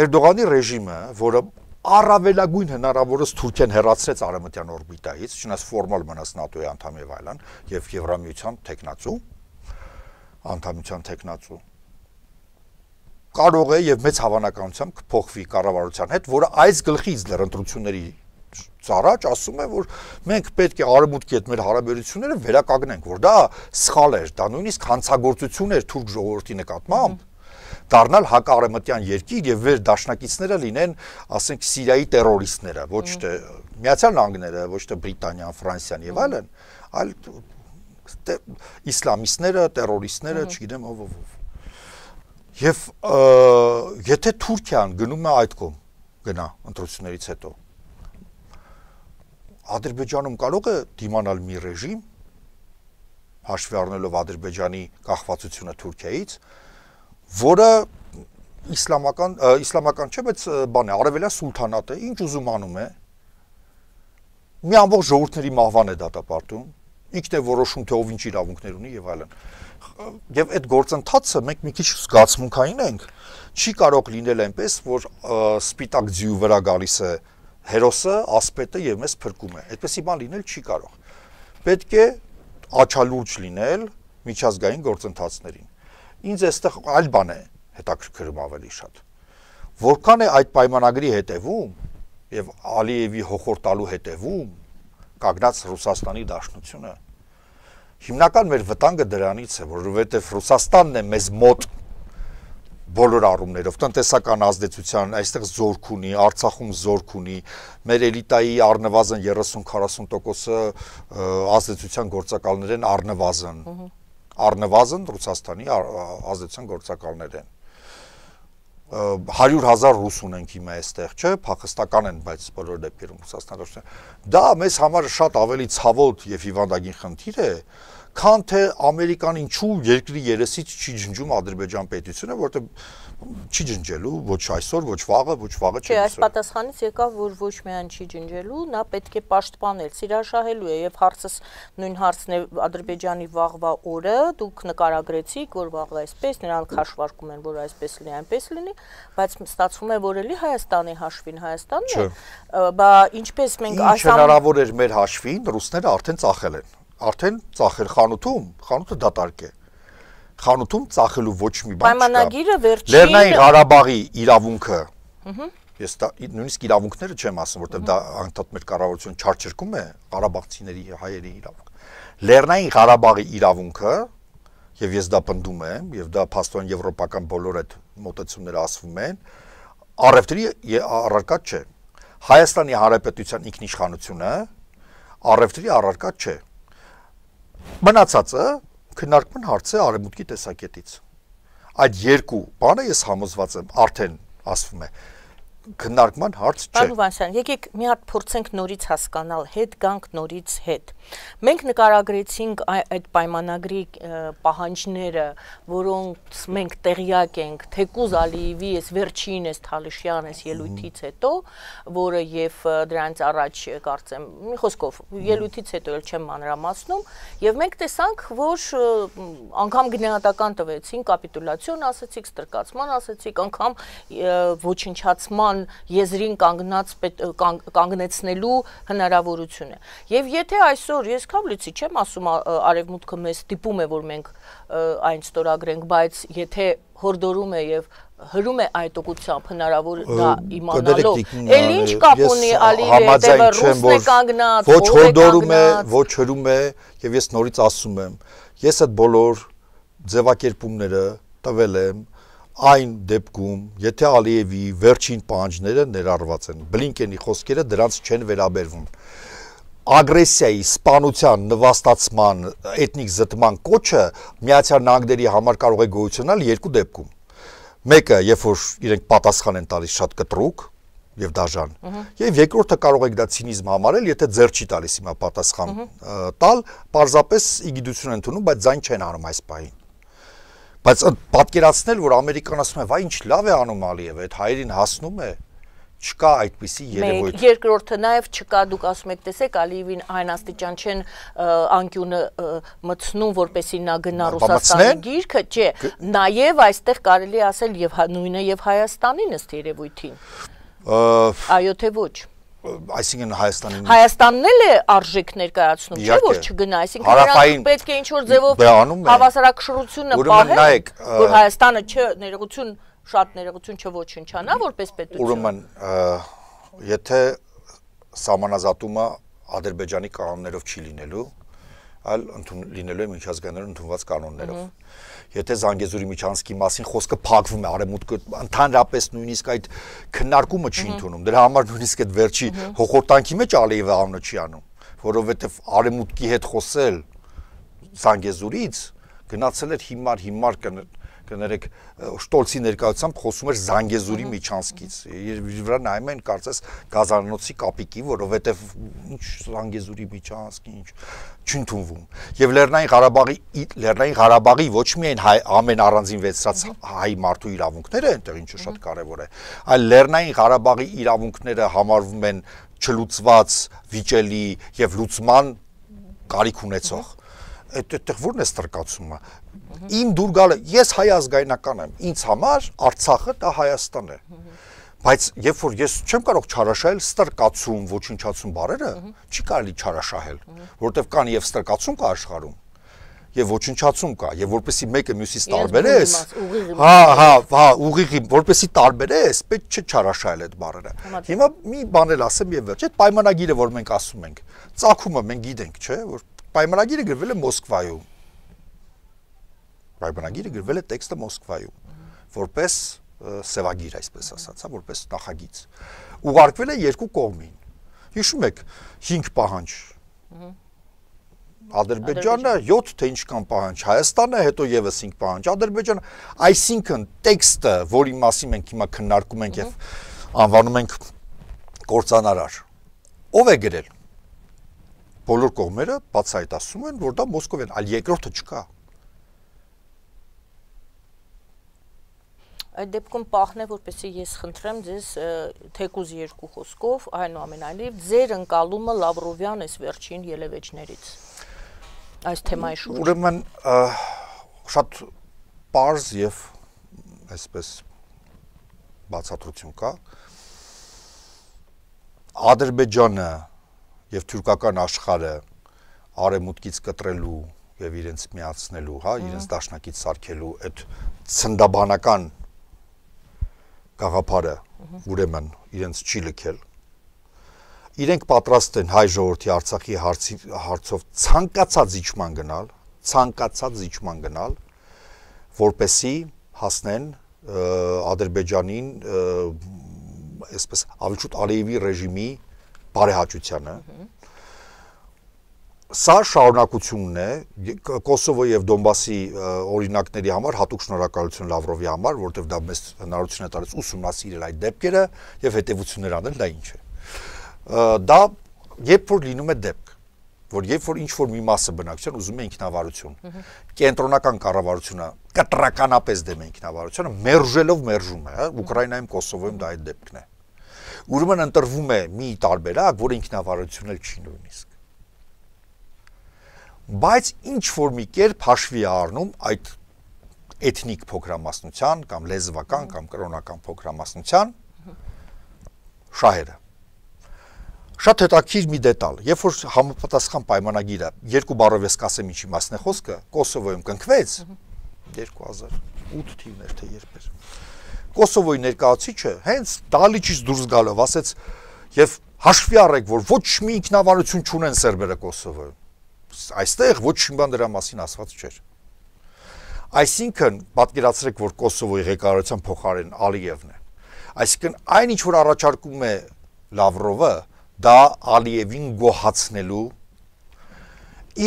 Էրդողանի ռեժիմը, որը առավելագույն հնարավորս Թուրքիան հեռացրեց արևմտյան օրբիտայից, չնայած ֆորմալ մնաց ՆԱՏՕ-ի անդամ եւ այլն, եւ Եվրամիության տեխնացու, անդամության տեխնացու, կարող է եւ մեծ հավանականությամբ կփոխվի կառավարության հետ, որը այս գլխից դեռ ընտրությունների ծառաջ ասում է, որ մենք պետք է արևմուտքի հետ մեր հարաբերությունները վերականգնենք, որ դա սխալ էր, դա նույնիսկ հանցագործություն էր թուրք ժողովրդի նկատմամբ, դառնալ հակարևմտյան երկիր եւ վեր դաշնակիցները լինեն, ասենք Սիրիայի տերորիստները, ոչ թե Միացյալ Նահանգները, ոչ թե Բրիտանիան, Ֆրանսիան եւ այլն, այլ իսլամիստները, տերորիստները, չգիտեմ ով ով ով։ Եվ եթե Թուրքիան գնում է այդ կողմ, գնա ընտրություններից հետո, Ադրբեջանում կարող է դիմանալ մի ռեժիմ, հաշվի առնելով Ադրբեջանի կախվածությունը Թուրքիայից, որը իսլամական, իսլամական չէ, բայց բան է, արևելյան սուլթանատ է, ինչ ուզում անում է, մի ամբողջ ժողովուրդների մահվան է դատապարտում, ինքն է որոշում, թե ով ինչ իրավունքներ ունի եւ այլն։ Եվ այդ գործընթացը մենք մի քիչ զգացմունքային ենք, չի կարող լինել այնպես, որ սպիտակ ձյու վրա գալիս է հերոսը, ասպետը եւ մեզ փրկում է։ Այդպեսի բան լինել չի կարող։ Պետք է աչալուրջ լինել միջազգային գործընթացներին։ Ինձ այստեղ այլ բան է հետաքրքրում ավելի շատ։ Որքան է այդ պայմանագրի հետևում եւ Ալիևի հոխորտալու հետևում կանգնած Ռուսաստանի Դաշնությունը, հիմնական մեր վտանգը դրանից է, որովհետեւ Ռուսաստանն է մեզ մոտ բոլոր առումներով, տնտեսական ազդեցության, այստեղ զորք ունի, Արցախում զորք ունի, մեր էլիտայի առնվազն երեսուն քառասուն տոկոսը ազդեցության գործակալներ են առնվազն, առնվազն Ռուսաստանի ազդեցության գործակալներ են։ հարյուր հազար ռուս ունենք հիմա այստեղ, չէ, փախստական են, բայց բոլոր դեպքերում Ռուսաստանը։ Դա մեզ համար շատ ավելի ցավոտ եւ հիվանդագին խնդիր է, քան թե Ամերիկան ինչու երկրի երեսից չի ջնջում Ադրբեջան պետությունը, որտեղ չի ջնջելու ոչ այսօր, ոչ վաղը, ոչ վաղը չի։ Չէ, այս պատասխանից եկավ, որ ոչ միայն չի ջնջելու, նա պետք է պաշտպանել, սիրաշահելու է եւ հարցս նույն հարցն է Ադրբեջանի վաղվա օրը, դուք նկարագրեցիք, որ վաղվա այսպես, նրանք հաշվարկում են, որ այսպես լինի, այնպես լինի, բայց ստացվում է, որ էլի Հայաստանի հաշվին Հայաստանն է, բա ինչպես մենք այս հնարավոր էր մեր հաշվին, ռուսները արդեն ծախել են, արդեն ծախել խանութում, խանութը դատարկ է։ Խանութում ծախելու ոչ մի բան չկա։ Պայմանագիրը վերջին Լեռնային Ղարաբաղի իրավունքը, ես դա նույնիսկ իրավունքները չեմ ասում, որտեղ դա անդադ մեր կառավարությունը չարչրկում է ղարաբաղցիների հայերի իրավունք։ Լեռնային Ղարաբաղի իրավունքը, եւ ես դա պնդում եմ, եւ դա փաստորեն եվրոպական բոլոր այդ մոտեցումները ասվում են, առևտրի առարկա չէ։ Հայաստանի Հանրապետության ինքնիշխանությունը առևտրի առարկա չէ։ Մնացածը քննարկման հարց է արևմուտքի տեսակետից։ Այդ երկու բանը ես համոզված եմ, արդեն ասվում է, քննարկման հարց չէ։ Պարոն Հովհաննիսյան, եկեք մի հատ փորձենք նորից հասկանալ, հետ գանք նորից հետ։ Մենք նկարագրեցինք այդ պայմանագրի պահանջները, որոնց մենք տեղյակ ենք, թեկուզ Ալիևի այս վերջին այս Թալիշյան այս ելույթից հետո, որը եւ դրանից առաջ կարծեմ, մի խոսքով, ելույթից հետո էլ չեմ մանրամասնում, եւ մենք տեսանք, որ անգամ գնահատական տվեցին, կապիտուլյացիոն ասացիք, ստրկացման ասացիք, անգամ ոչնչացման եզրին կանգնած կանգնեցնելու հնարավորությունը։ Եվ եթե այսօր ես քավլիցի չեմ ասում արևմուտքը մեզ ստիպում է, որ մենք այն ստորագրենք, բայց եթե հորդորում է եւ հրում է այդ ուղղությամբ հնարավոր դա իմանալով, էլ ինչ կապ ունի Ալիևի հետևը ռուսն է կանգնած, ոչ հորդորում է, ոչ հրում է, եւ ես նորից ասում եմ, ես այդ բոլոր ձևակերպումները տվել եմ այն դեպքում, եթե Ալիևի վերջին պահանջները ներառված են, Բլինկենի խոսքերը դրանց չեն վերաբերվում։ Ագրեսիայի, սպանության, նվաստացման, էթնիկ զտման կոչը Միացյալ Նահանգների համար կարող է գոյությունալ երկու դեպքում։ Մեկը, երբ որ իրենք պատասխան են տալիս շատ կտրուկ, եւ դաժան։ Եվ երկրորդը կարող եք դա ցինիզմ համարել, եթե ձեռ չի տալիս հիմա պատասխան տալ, պարզապես իգիդություն են ընդունում, բայց ձայն չեն անում այս պահին։ Բայց պատկերացնել, որ Ամերիկան ասում է, վայ ինչ լավ է անում Ալիևը, այդ հայերին հասնում է, չկա այդպիսի երևույթ։ Երկրորդը նաև չկա, դուք ասում եք, տեսեք, Ալիևին այն աստիճան չեն անկյունը մտցնում, որպեսզի նա գնա Ռուսաստանի գիրքը, չէ, նաև այստեղ կարելի ասել եւ նույնը եւ Հայաստանին ըստ երևույթին։ Այո, թե ոչ։ Այսինքն Հայաստանին Հայաստանն էլ է արժեք ներկայացնում, չէ՞ որ չգնա, այսինքն նրանք պետք է ինչ-որ ձևով հավասարակշռությունը պահեն, որ Հայաստանը չներողություն շատ ներողություն չոչնչանա որպես պետություն։ Ուրեմն, եթե սահմանազատումը Ադրբեջանի կանոններով չի լինելու, այլ լինելու է միջազգայինորեն ընդունված կանոններով։ Եթե Զանգեզուրի Միջանցքի մասին խոսքը փակվում է, արևմուտքը ընդհանրապես նույնիսկ այդ քննարկումը չի ընդունում, դրա համար նույնիսկ այդ վերջի հոխորտանքի մեջ Ալիևը անունը չի անում, որովհետև արևմուտքի հետ խոսել Զանգեզուրից գնացել էր հիմար հիմար կներեք Շտոլցի ներկայությամբ խոսում էր Զանգեզուրի Միջանցքից։ Վրա նայում են կարծես գազանոցի կապիկի, որովհետև ինչ Զանգեզուրի Միջանցքի ինչ չընդունվում։ Եվ Լեռնային Ղարաբաղի Լեռնային Ղարաբաղի ոչ միայն ամեն առանձին վեցրած հայ մարդու իրավունքները այնտեղ ինչը շատ կարևոր է, այլ Լեռնային Ղարաբաղի իրավունքները համարվում են չլուծված, վիճելի եւ լուծման կարիք ունեցող։ Այդտեղ ո՞րն է ստրկացումը։ Իմ դուր գալը, ես հայ ազգայնական եմ, ինձ համար Արցախը դա Հայաստան է։ Բայց երբ որ ես չեմ կարող չարաշահել ստրկացում, ոչնչացում բառերը, չի կարելի չարաշահել, որովհետև կան եւ ստրկացում կա աշխարհում, եւ ոչնչացում կա, եւ որպեսի մեկը մյուսից տարբերես, հա, հա, հա, ուղիղի, որպեսի տարբերես, պետք չէ չարաշահել այդ բառերը։ Հիմա մի բան էլ ասեմ եւ վերջ, այդ պայմանագիրը, որ մենք ասում ենք, ծագումը մենք գիտենք, չէ՞, որ պայմանագիրը գրվել է Մոսկվայում։ Պայմանագիրը գրվել է տեքստը Մոսկվայում, որպես սևագիր, այսպես ասած, որպես նախագիծ։ Ուղարկվել է երկու կողմին։ Հիշում եք, հինգ պահանջ։ Ադրբեջանը յոթ թե ինչքան պահանջ, Հայաստանը հետո եւս հինգ պահանջ, Ադրբեջանը, այսինքն տեքստը, որի մասին մենք հիմա քննարկում ենք եւ անվանում ենք կործանարար, ով է գրել։ Բոլոր կողմերը բացահայտում են, որ դա Մոսկովյան, այլ երկրորդը չկա։ Այդ դեպքում պահն է, որպեսզի ես խնդրեմ ձեզ թեկուզ երկու խոսքով, այնուամենայնիվ ձեր ընկալումը Լավրովյան այս վերջին ելևէջներից այս թեմայի շուրջ։ Ուրեմն շատ պարզ եւ այսպես բացատրություն կա։ Ադրբեջանը եւ թուրքական աշխարհը արևմուտքից կտրելու եւ իրենց միացնելու, հա, իրենց դաշնակից սարքելու այդ ցնդաբանական գաղափարը ուրեմն իրենց չի լքել։ Իրենք պատրաստ են հայ ժողովրդի Արցախի հարցի հարցով ցանկացած իջման գնալ, ցանկացած իջման գնալ, որպեսի հասնեն Ադրբեջանին այսպես ավելի շուտ Ալիևի ռեժիմի բարեհաճությանը։ Սա շարունակությունն է Կոսովոյի եւ Դոնբասի օրինակների համար հատուկ շնորհակալություն Լավրովի համար, որովհետեւ դա մեզ հնարավորություն է տալիս ուսումնասիրել այդ դեպքերը եւ հետեւություններ անել, դա ինչ է։ Դա երբ որ լինում է դեպք, որ երբ որ ինչ որ մի մասը բնակչության ուզում է ինքնավարություն, կենտրոնական կառավարությունը կտրականապես դեմ է ինքնավարությունը, մերժելով մերժում է, հա, Ուկրաինայում, Կոսովոյում դա այդ դեպքն է։ Ուրեմն ընտրվում է մի տարբերակ, որը ինքնավարությունն էլ չի նույնիսկ։ Բայց ինչ որ մի կերպ հաշվի առնում այդ էթնիկ փոքրամասնության կամ լեզվական կամ կրոնական փոքրամասնության շահերը։ Շատ հետաքրքիր մի դետալ, երբ որ համապատասխան պայմանագիրը երկու բառով ես կասեմ ինչի մասն է խոսքը, Կոսովոյում կնքվեց երկու հազար ութ թիվներ թե երբ էր։ Կոսովոյի ներկայացուցիչը հենց Դալիչից դուրս գալով ասեց եւ հաշվի առեք, որ ոչ մի ինքնավարություն չունեն սերբերը Կոսովոյում։ Այստեղ ոչ մի բան դրա մասին ասված չէր։ Այսինքն պատկերացրեք, որ Կոսովոյի ղեկավարության փոխարեն Ալիևն է։ Այսինքն այն ինչ որ առաջարկում է Լավրովը, դա Ալիևին գոհացնելու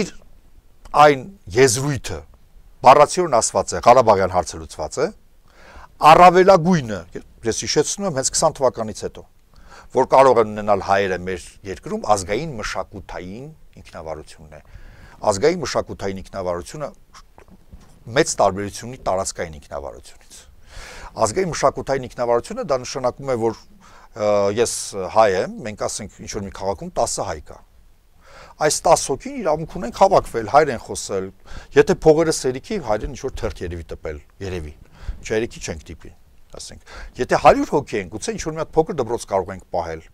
իր այն եզրույթը, բառացիորեն ասված է, Ղարաբաղյան հարցը լուծված է, առավելագույնը, ես հիշեցնում եմ հենց քսան թվականից հետո, որ կարող են ունենալ հայերը մեր երկրում, ազգային մշակութային ինքնավարությունն է։ Ազգային մշակութային ինքնավարությունը մեծ տարբերություն ունի տարածքային ինքնավարությունից։ Ազգային մշակութային ինքնավարությունը դա նշանակում է, որ ես հայ եմ, մենք ասենք ինչ որ մի քաղաքում տասը հայ կա։ Այս տասը հոգին իրավունք ունենք հավաքվել, հայեր են խոսել, եթե փողերը սերիքի, հայերեն ինչ որ թերթ երևի տպել, երևի։ Չերիքի չենք տիպի, ասենք։ Եթե հարյուր հոգի են, գուցե ինչ որ մի հատ փոքր դպրոց կարող ենք պահել։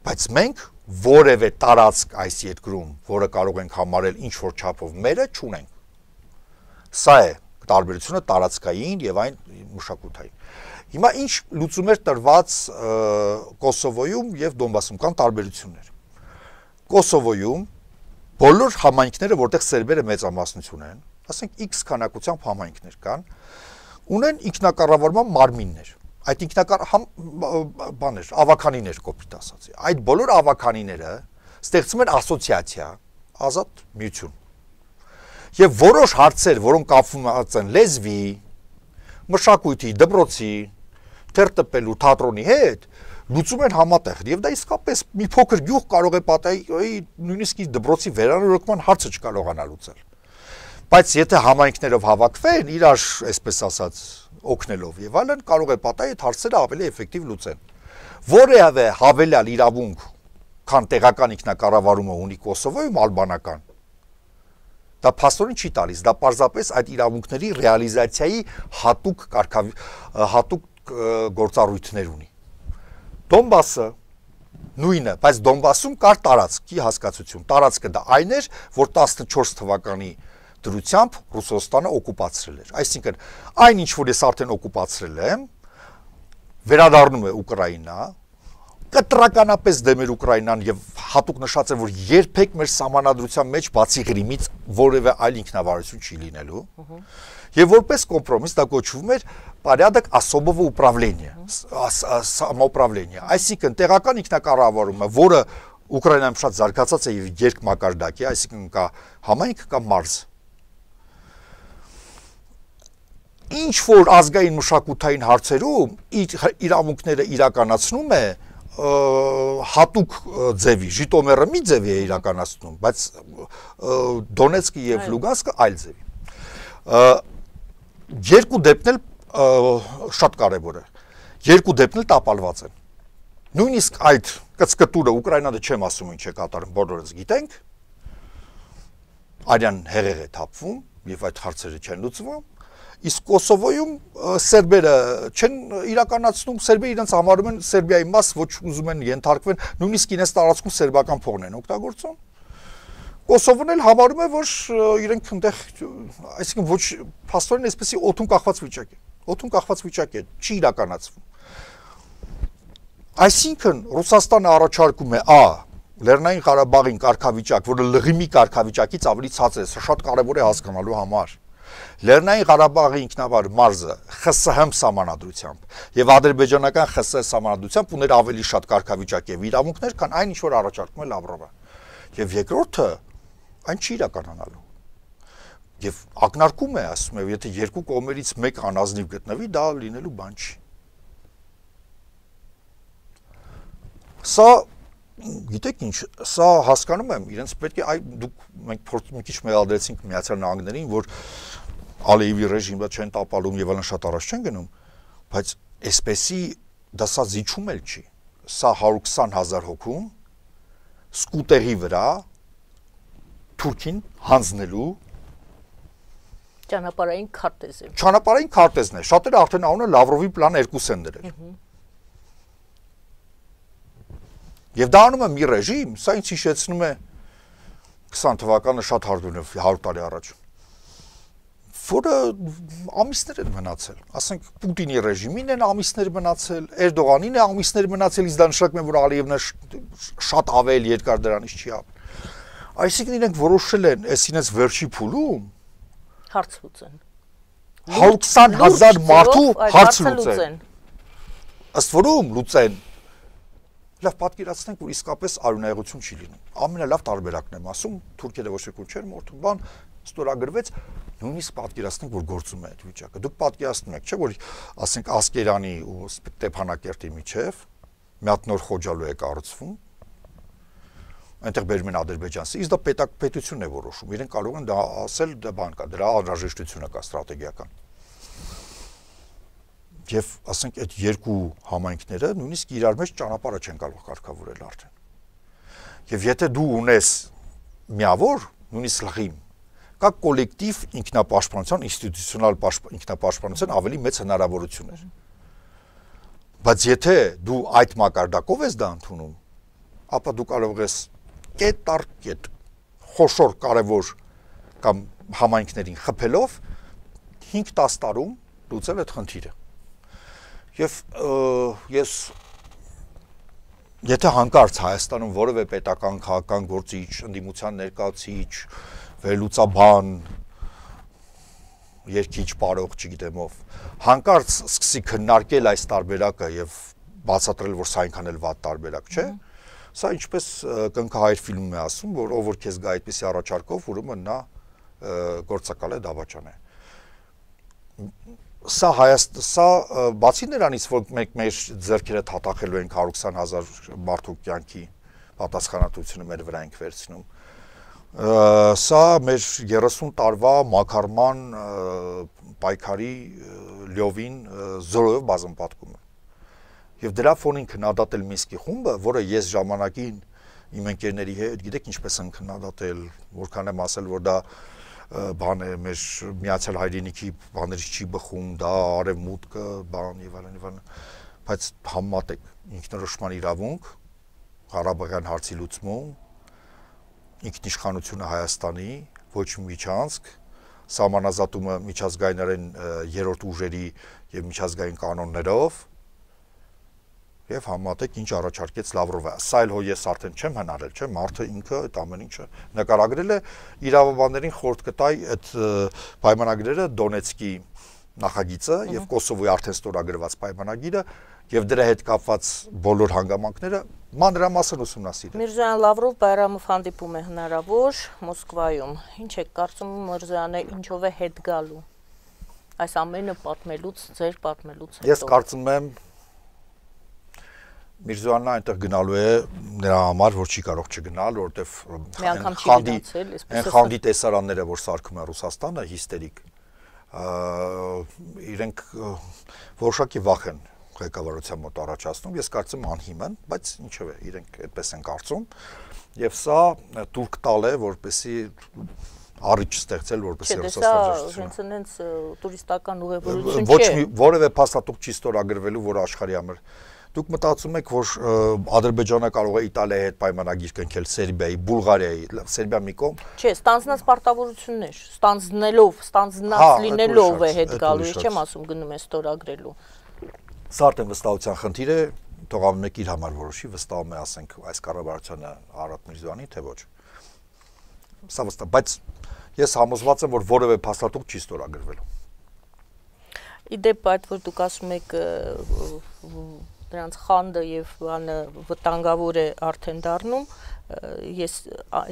Բայց մենք որևէ տարածք այս երկրում, որը կարող ենք համարել ինչ որ չափով մերը, չունենք։ Սա է տարբերությունը տարածքային եւ այն մշակութային։ Հիմա ինչ լուծումներ տրված Կոսովոյում եւ Դոնբասում կան տարբերություններ։ Կոսովոյում բոլոր համայնքները, որտեղ սերբերը մեծամասնություն են, ասենք X քանակությամբ համայնքներ կան, ունեն ինքնակառավարման մարմիններ։ Այդ ինքնակար բաներ, ավականիներ կոպիտ ասած։ Այդ բոլոր ավականիները ստեղծում են ասոցիացիա, ազատ միություն։ Եվ որոշ հարցեր, որոնք կապվում են լեզվի, մշակույթի, դպրոցի, թերթպելու, թատրոնի հետ, լուծում են համատեղ։ Եվ դա իսկապես մի փոքր գյուղ կարող է պատահի, նույնիսկ դպրոցի վերանորոգման հարցը չկարողանա լուծել։ Բայց եթե համայնքներով հավաքվեն, իրար, այսպես ասած, օգնելով եւ այլն, կարող է պատահի այդ հարցերը ավելի էֆեկտիվ լուծեն։ Որևէ հավելյալ իրավունք, քան տեղական ինքնակառավարումը ունի Կոսովոյում ալբանական, դա փաստորեն չի տալիս, դա պարզապես այդ իրավունքների ռեալիզացիայի հատուկ հատուկ գործառույթներ ունի։ Դոնբասը նույնը, բայց Դոնբասում կար տարածքի հասկացություն։ Տարածքը դա այն էր, որ տասնչորս թվականի դրությամբ Ռուսաստանը օկուպացրել էր։ Այսինքն, այն ինչ որ ես արդեն օկուպացրել եմ, վերադառնում է Ուկրաինա, կտրականապես դեմ էր Ուկրաինան եւ հատուկ նշած է, որ երբեք մեր սահմանադրության մեջ բացի Ղրիմից որևէ այլ ինքնավարություն չի լինելու։ Եվ որպես կոմպրոմիս դա կոչվում էր порядок особого управления, самоуправления։ Այսինքն տեղական ինքնակառավարումը, որը Ուկրաինայում շատ զարգացած է եւ երկմակարդակ է, այսինքն կա համայնք, կա մարզ։ Ինչ որ ազգային մշակութային հարցերում իր իրավունքները իրականացնում է հատուկ ձևի, Ժիտոմերը մի ձևի է իրականացնում, բայց Դոնեցկը եւ Լուգանսկը այլ ձևի։ Երկու դեպքն էլ շատ կարևոր է։ Երկու դեպքն էլ տապալված են։ Նույնիսկ այդ կծկտուրը Ուկրաինանը չեմ ասում ինչ է կատարում, բոլորս գիտենք։ Արյան հեղեղ է թափվում եւ այդ հարցերը չեն լուծվում։ Իսկ Կոսովոյում սերբերը չեն իրականացնում, սերբերը իրենց համարում են Սերբիայի մաս, ոչ ուզում են ենթարկվեն, նույնիսկ իրենց տարածքում սերբական փողն են օգտագործում։ Կոսովոն էլ համարում է, որ իրենք այնտեղ, այսինքն ոչ փաստորեն այսպեսի օդում կախված վիճակ է։ Օդում կախված վիճակ է, չի իրականացվում։ Այսինքն Ռուսաստանը առաջարկում է Ա. Լեռնային Ղարաբաղին կարգավիճակ, որը Լղիմի կարգավիճակից ավելի ցածր է, սա շատ կարևոր է հասկանալու համար։ Լեռնային Ղարաբաղի ինքնավար մարզը Խ Ս Հ սահմանադրությամբ եւ ադրբեջանական Խ Ս սահմանադրությամբ ուներ ավելի շատ կարգավիճակ եւ իրավունքներ, քան այն ինչ որ առաջարկում է Լավրովը։ Եվ երկրորդը այն չի իրականանալու։ Եվ ակնարկում է, ասում է, եթե երկու կողմերից մեկ անազնիվ գտնվի, դա լինելու բան չի։ Սա գիտեք ինչ, սա հասկանում եմ, իրենց պետք է այ դուք մենք մի քիչ մեղադրեցինք Միացյալ Նահանգներին, որ Ալիևի ռեժիմը չեն տապալում եւ այլն շատ առաջ չեն գնում, բայց այսպեսի դա սա զիջում էլ չի։ Սա հարյուր քսան հազար հոգում սկուտերի վրա Թուրքին հանձնելու ճանապարհային քարտեզ է։ Ճանապարհային քարտեզն է։ Շատերը արդեն անունը Լավրովի պլան երկուս են դրել։ Եվ դա անում է մի ռեժիմ, սա ինձ հիշեցնում է քսան թվականը շատ հարդունով հարյուր տարի առաջ, որը ամիսներ են մնացել, ասենք Պուտինի ռեժիմին են ամիսներ մնացել, Էրդողանին է ամիսներ մնացել, իսկ դա նշանակում է, որ Ալիևն շատ ավել երկար դրանից չի ապրել։ Այսինքն իրենք որոշել են, այս իրենց վերջի փուլում հարց լուծեն։ հարյուր քսան հազար մարդու հարց լուծեն։ Ըստ որում լուծեն։ Լավ պատկերացնենք, որ իսկապես արյունայղություն չի լինում։ Ամենալավ տարբերակն եմ ասում, թուրքերը ոչ ոք չեն մորթում, բան ստորագրվեց, նույնիսկ պատկերացնենք, որ գործում է այդ վիճակը։ Դուք պատկերացնում եք, չէ՞ որ ասենք Ասկերանի ու Ստեփանակերտի միջև մի հատ նոր խոջալու է կառուցվում, այնտեղ բերում են ադրբեջանցի, իսկ դա պետակ պետությունն է որոշում։ Իրենք կարող են դա ասել, դա բան կա, դրա անհրաժեշտությունը կա ստրատեգիական։ Եվ ասենք այդ երկու համայնքները նույնիսկ իրար մեջ ճանապարհը չեն կարող կարգավորել արդեն։ Եվ եթե դու ունես միավոր, նույնիսկ լղիմ, կա կոլեկտիվ ինքնապաշտպանության, ինստիտուցիոնալ ինքնապաշտպանության ավելի մեծ հնարավորություններ։ Բայց եթե դու այդ մակարդակով ես դա ընդունում, ապա դու կարող ես կետ առ կետ խոշոր կարևոր կամ համայնքներին խփելով հինգ-տասը տարում լուծել այդ խնդիրը։ Եվ ես եթե հանկարծ Հայաստանում որևէ պետական քաղաքական գործիչ, ընդդիմության ներկայացիչ, վերլուծաբան, երկիչ, պարող, չգիտեմ ով, հանկարծ սկսի քննարկել այս տարբերակը եւ բացատրել, որ սա այնքան էլ վատ տարբերակ չէ, սա ինչպես կնքահայր ֆիլմում է ասում, որ ով որ քեզ գա այդպիսի առաջարկով, ուրեմն նա գործակալ է, դավաճան է։ Սա Հայաստան, սա բացի նրանից, որ մենք մեր ձեռքերը թաթախելու ենք հարյուր քսան հազար մարդու կյանքի պատասխանատվությունը մեր վրա ենք վերցնում, սա մեր երեսուն տարվա մակարման պայքարի լյովին զորով բազմապատկում է։ Եվ դրա ֆոնին քննադատել Մինսկի խումբը, որը ես ժամանակին իմ ընկերների հետ, գիտեք ինչպես են քննադատել, որքան եմ ասել, որ դա բան է, մեր Միացյալ Հայրենիքի բաներից չի բխում, դա արևմուտքը, բան եւ այլն եւ այլն, բայց համատեք ինքնորոշման իրավունք, Ղարաբաղյան հարցի լուծում, ինքնիշխանությունը Հայաստանի, ոչ միջանցք, սահմանազատումը միջազգայինորեն երրորդ ուժերի եւ միջազգային կանոններով եւ համատեք ինչ առաջարկեց Լավրովը։ Սա էլ հո ես արդեն չեմ հնարել, չէ՞, մարդը ինքը այդ ամեն ինչը նկարագրել է, իրավաբաններին խորտ կտայ այդ պայմանագրերը Դոնեցկի նախագիծը եւ Կոսովոյի արդեն ստորագրված պայմանագիրը եւ դրա հետ կապված բոլոր հանգամանքները մանրամասն ուսումնասիրել։ Միրզոյան Լավրով Բայրամով հանդիպում է հնարավոր Մոսկվայում։ Ինչ եք կարծում, Միրզոյանը ինչով է հետ գալու այս ամենը պատմելուց, ձեր պատմելուց հետո։ Ես կարծում եմ Միրզոյանն այնտեղ գնալու է նրա համար, որ չի կարող չգնալ, որովհետև խանդի այն խանդի տեսարանները, որ սարքում է Ռուսաստանը, հիստերիկ, իրենք որոշակի վախ են ղեկավարության մոտ առաջացնում, ես կարծում անհիմն, բայց ինչով է, իրենք այդպես են կարծում, եւ սա турք տալ է, որպեսի առիթ ստեղծել, որպեսի Ռուսաստանը հենց հենց տուրիստական ուղևորություն չէ։ Ոչ մի որևէ փաստաթուղթ չի ստորագրվելու, որ աշխարհի համար Դուք մտածում եք, որ Ադրբեջանը կարող է Իտալիայի հետ պայմանագիր կնքել, Սերբիայի, Բուլղարիայի, Սերբիա մի կողմ։ Չէ, ստանձնած պարտավորություններ, ստանձնելով, ստանձնած լինելով է հետ գալու, ես չեմ ասում գնում է ստորագրելու։ Սա արդեն վստահության խնդիր է, թող ամեն մեկ իր համար որոշի, վստահում է, ասենք, այս կառավարությունը Արադ Միրզոյանի, թե ոչ։ Սա վստահ, բայց ես համոզված եմ, որ որևէ փաստաթուղթ չի ստորագրվելու։ Իդեպ այդ որ դուք ասում եք դրանց խանդը եւ բանը վտանգավոր է արդեն դառնում, ես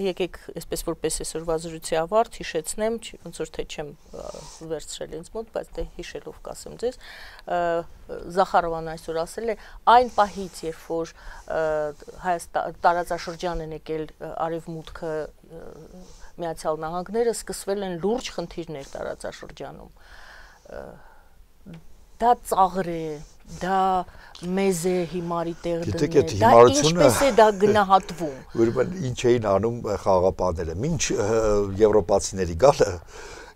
եկեք այսպես որպես այսօրվա զրույցի ավարտ հիշեցնեմ, ոնց որ թե չեմ վերցրել ինձ մոտ, բայց դե հիշելով կասեմ ձեզ, Զախարովան այսօր ասել է այն պահից, երբ որ Հայաստան տարածաշրջան են եկել արևմուտքը Միացյալ Նահանգները, սկսվել են լուրջ խնդիրներ տարածաշրջանում։ Դա ծաղր է, դա մեզ է հիմարի տեղ դնել, դա ինչպես է դա գնահատվում։ Ուրեմն ինչ էին անում խաղաղապահները, մինչ եվրոպացիների գալը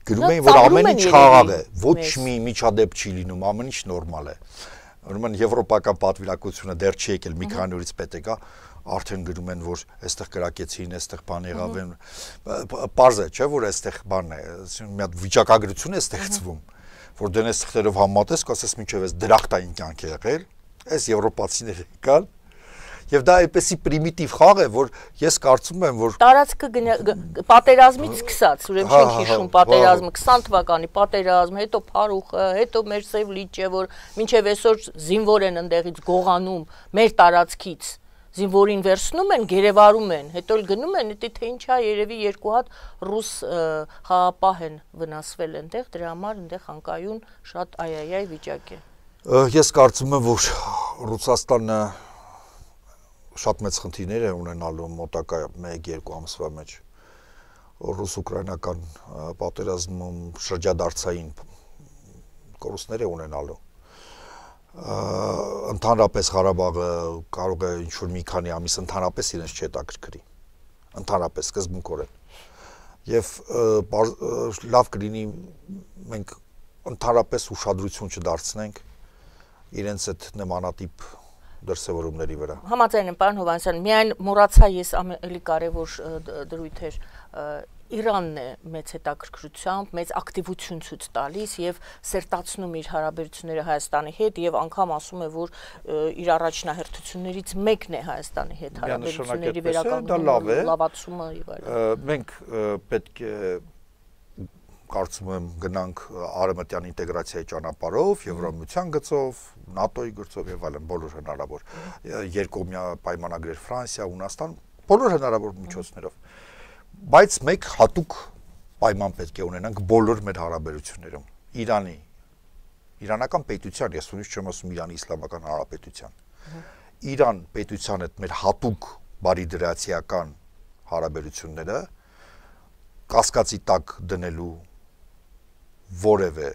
գնում էին, որ ամեն ինչ խաղաղ է, ոչ մի միջադեպ չի լինում, ամեն ինչ նորմալ է։ Ուրեմն եվրոպական պատվիրակությունը դեռ չի եկել, մի քանի օրից պետք է արդեն գրում են, որ այստեղ կրակեցին, այստեղ բան եղավ են։ Պարզ է, չէ՞ որ այստեղ բանն է, մի հատ վիճակագրություն է ստեղծվում, որ դենես թղթերով համատես, կասես մինչև այս դրախտային կյանք է եղել, այս եվրոպացիները կան, եւ դա այդպեսի պրիմիտիվ խաղ է, որ ես կարծում եմ, որ տարածքը պատերազմից սկսած, ուրեմն չենք հիշում պատերազմը, քսան թվականի պատերազմ, հետո Փարուխը, հետո մեր Սև լիճը, որ մինչև այսօր զինվոր են ընդեղից գողանում մեր տարածքից, զինվորին վերցնում են, գերեվարում են, հետո էլ գնում են, դա թե ինչա, երևի երկու հատ ռուս խաղապահ են վնասվել այնտեղ, դրա համար այնտեղ Խանկայուն շատ այ-այ-այ վիճակ է։ Ես կարծում եմ, որ Ռուսաստանը շատ մեծ խնդիրներ է ունենալու մոտակա մեկ-երկու ամսվա մեջ ռուս-ուկրաինական պատերազմում շրջադարձային կորուստներ է ունենալու։ Ընդհանրապես Ղարաբաղը կարող է ինչ-որ մի քանի ամիս ընդհանրապես իրենց չհետաքրքրի, ընդհանրապես սկզբունքորեն։ Եվ լավ կլինի մենք ընդհանրապես ուշադրություն չդարձնենք իրենց այդ նմանատիպ դրսևորումների վրա։ Համաձայն եմ, պարոն Հովհաննիսյան, միայն մոռացա ես ավելի կարևոր դրույթ էր Իրանն է մեծ հետաքրքրությամբ, մեծ ակտիվություն ցույց տալիս եւ սերտացնում իր հարաբերությունները Հայաստանի հետ եւ անգամ ասում է, որ իր առաջնահերթություններից մեկն է Հայաստանի հետ հարաբերությունների վերականգնումը, լավացումը եւ այլն։ Մենք պետք է կարծում եմ գնանք արևմտյան ինտեգրացիայի ճանապարհով, Եվրամիության գծով, ՆԱՏՕ-ի գծով եւ այլն, բոլոր հնարավոր երկկողմյա պայմանագրեր Ֆրանսիա, Հունաստան, բոլոր հնարավոր միջոցներով։ Բայց մեկ հատուկ պայման պետք է ունենանք բոլոր մեր հարաբերություններում։ Իրանի, իրանական պետության, ես ուսուցիչ չեմ ասում Իրանի Իսլամական Հանրապետության։ Իրան պետության հետ մեր հատուկ բարիդրացիական հարաբերությունները կասկածի տակ դնելու որևէ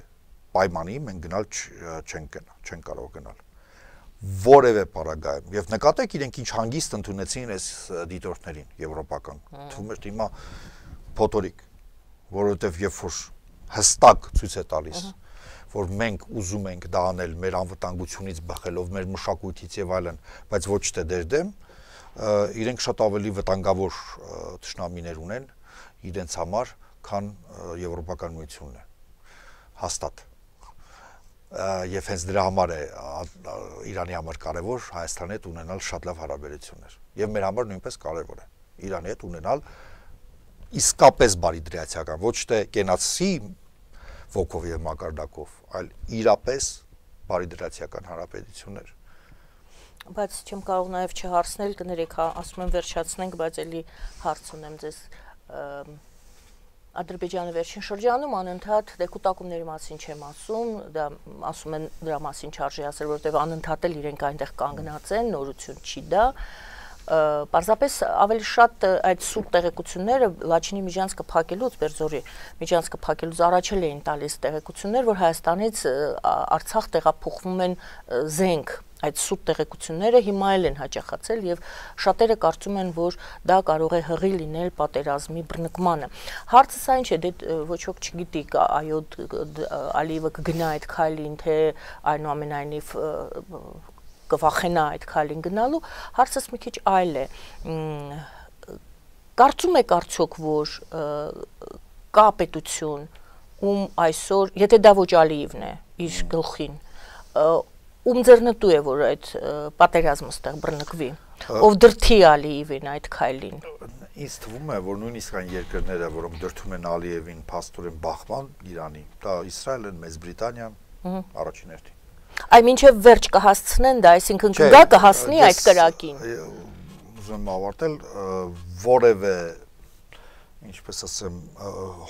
պայմանի մենք գնալ չենք չենք կարող գնալ։ Որևէ պարագայում եւ նկատեք իրենք ինչ հանգիստ ընդունեցին այս դիտորդներին եվրոպական թվում է հիմա փոթորիկ որովհետեւ երբ որ հստակ ցույց է տալիս որ մենք ուզում ենք դա անել մեր անվտանգությունից բխելով մեր մշակույթից եւ այլն բայց ոչ թե դեր դեմ իրենք շատ ավելի վտանգավոր ճշնամիներ ունեն իրենց համար քան եվրոպական միությունն է հաստատ եւ հենց դրա համար է Իրանի համար կարևոր Հայաստանի հետ ունենալ շատ լավ հարաբերություններ եւ մեր համար նույնպես կարևոր է Իրանի հետ ունենալ իսկապես բարիդրացիական ոչ թե կենացի ոգով եւ մակարդակով այլ իրապես բարիդրացիական հարաբերություններ բայց չեմ կարող նաեւ չհարցնել կներեք ասում եմ վերջացնենք բայց էլի հարց ունեմ ձեզ Ադրբեջանը վերջին շրջանում անընդհատ դեկուտակումների մասին չեմ ասում, դա ասում են դրա մասին չարժի ասել, որովհետև անընդհատ էլ իրենք այնտեղ կանգնած են, նորություն չի դա։ Պարզապես ավելի շատ այդ սուտ տեղեկությունները Լաչինի միջանցքը փակելուց, Բերձորի միջանցքը փակելուց առաջ էլ էին տալիս տեղեկություններ, որ Հայաստանից Արցախ տեղափոխվում են զենք այդ սուտ տեղեկությունները հիմա էլ են հաճախացել եւ շատերը կարծում են, որ դա կարող է հղի լինել պատերազմի բռնկմանը։ Հարցը սա ինչ է, դե ոչ ոք չգիտի, այո, Ալիևը կգնա այդ քայլին, թե այնուամենայնիվ կվախենա այդ քայլին գնալու, հարցս մի քիչ այլ է։ Կարծում եք արդյոք, որ կա պետություն, ում այսօր, եթե դա ոչ Ալիևն է, իր գլխին, ում ձեռնտու է, որ այդ պատերազմը ստեղ բռնկվի, ով դրթի Ալիևին այդ քայլին։ Ինձ թվում է, որ նույնիսկ այն երկրները, որոնք դրթում են Ալիևին փաստորեն բախման Իրանի, դա Իսրայելն, Մեծ Բրիտանիան, առաջին հերթին։ Այ մինչև վերջ կհասցնեն դա, այսինքն կգա կհասնի այդ կրակին։ Ուզում ավարտել որևէ, ինչպես ասեմ,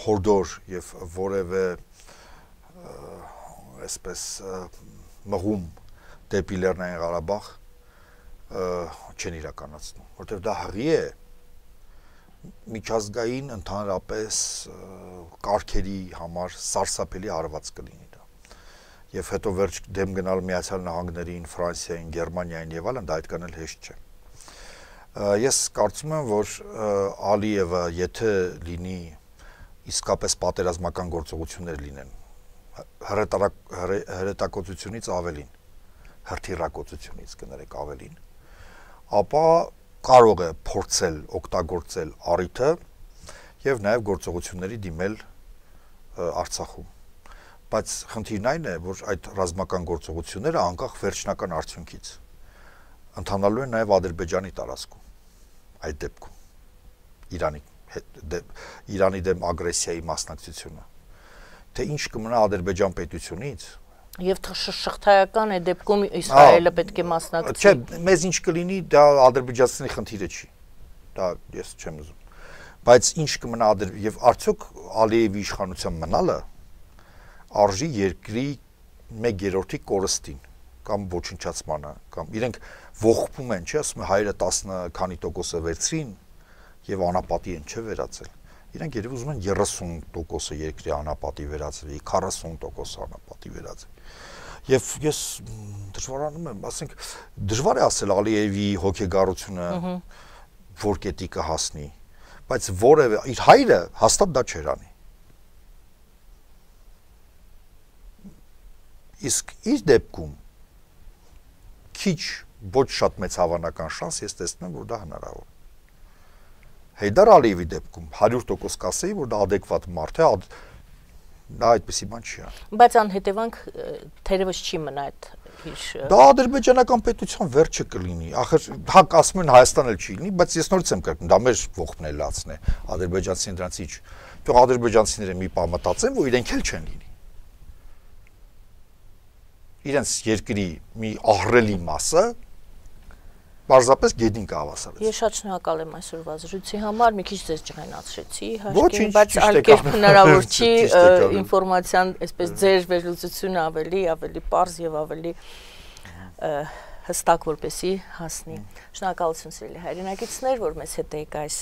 հորդոր եւ որևէ այսպես մղում դեպի Լեռնային Ղարաբաղ չեն իրականացնում, որտեղ դա հղի է միջազգային ընդհանրապես կարգերի համար սարսափելի հարված կլինի դա։ Եվ հետո վերջ դեմ գնալ Միացյալ Նահանգներին, Ֆրանսիային, Գերմանիային եւ այլն, դա այդքան էլ հեշտ չէ։ Ես կարծում եմ, որ Ալիևը, եթե լինի իսկապես պատերազմական գործողություններ լինեն, հրետակոծությունից ավելին, հրթիռակոծությունից կներեք ավելին, ապա կարող է փորձել օգտագործել առիթը եւ նաեւ գործողությունների դիմել Արցախում։ Բայց խնդիրն այն է, որ այդ ռազմական գործողությունները անկախ վերջնական արդյունքից ընթանալու են նաեւ Ադրբեջանի տարածքում։ Այդ դեպքում Իրանի Իրանի դեմ ագրեսիայի մասնակցությունը թե ինչ կմնա Ադրբեջան պետությունից, Եվ շղթայական է դեպքում Իսրայելը պետք է մասնակցի։ Չէ, մեզ ինչ կլինի, դա ադրբեջանցիների խնդիրը չի։ Դա ես չեմ ուզում։ Բայց ինչ կմնա եւ արդյոք Ալիևի իշխանության մնալը արժի երկրի մեկ երրորդի կորստին կամ ոչնչացմանը, կամ իրենք ողբում են, չէ՞, ասում են հայերը տասը քանի տոկոսը վերցրին եւ անապատի են չէ վերածել։ Իրենք երբ ուզում են երեսուն տոկոսը երկրի անապատի վերածել, քառասուն տոկոս անապատի վերածել։ Եվ ես դժվարանում եմ, ասենք, դժվար է ասել Ալիևի հոգեգարությունը որ կետի կհասնի, բայց որևէ իր հայրը հաստատ դա չէր անի։ Իսկ իր դեպքում քիչ ոչ շատ մեծ հավանական շանս ես տեսնում եմ, որ դա հնարավոր է։ Հեյդար Ալիևի դեպքում հարյուր տոկոս կասեի, որ դա adekvat մարդ է, դա այդպեսի բան չի անի։ Բայց անհետևանք թերևս չի մնա այդ իր Դա ադրբեջանական պետության վերջը կլինի։ Ախր հակ ասում են Հայաստան էլ չի լինի, բայց ես նորից եմ կրկնում, դա մեր ողբն է լացն է։ Ադրբեջանցիները դրանից ինչ։ Թող ադրբեջանցիները մի բան մտածեն, որ իրենք էլ չեն լինի։ Իրենց երկրի մի ահռելի մասը Պարզապես գեդին կհավասարեց։ Ես շատ շնորհակալ եմ այսօրվա զրույցի համար, մի քիչ ձեզ ջղայնացրեցի, հաշկին, բայց ալկերպ հնարավոր չի ինֆորմացիան, այսպես ձեր վերլուծությունը ավելի, ավելի պարզ եւ ավելի հստակ որպեսի հասնի։ Շնորհակալություն սիրելի հայրենակիցներ, որ մեզ հետ եք այս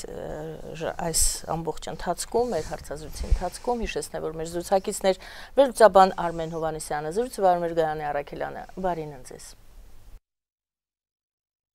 այս ամբողջ ընթացքում, մեր հարցազրույցի ընթացքում, հիշեցնեմ, որ մեր զրուցակիցներ վերլուծաբան Արմեն Հովհաննիսյանը, զրույցը Վարդան Գարանի Առաքելյանը, բարին ընձեզ։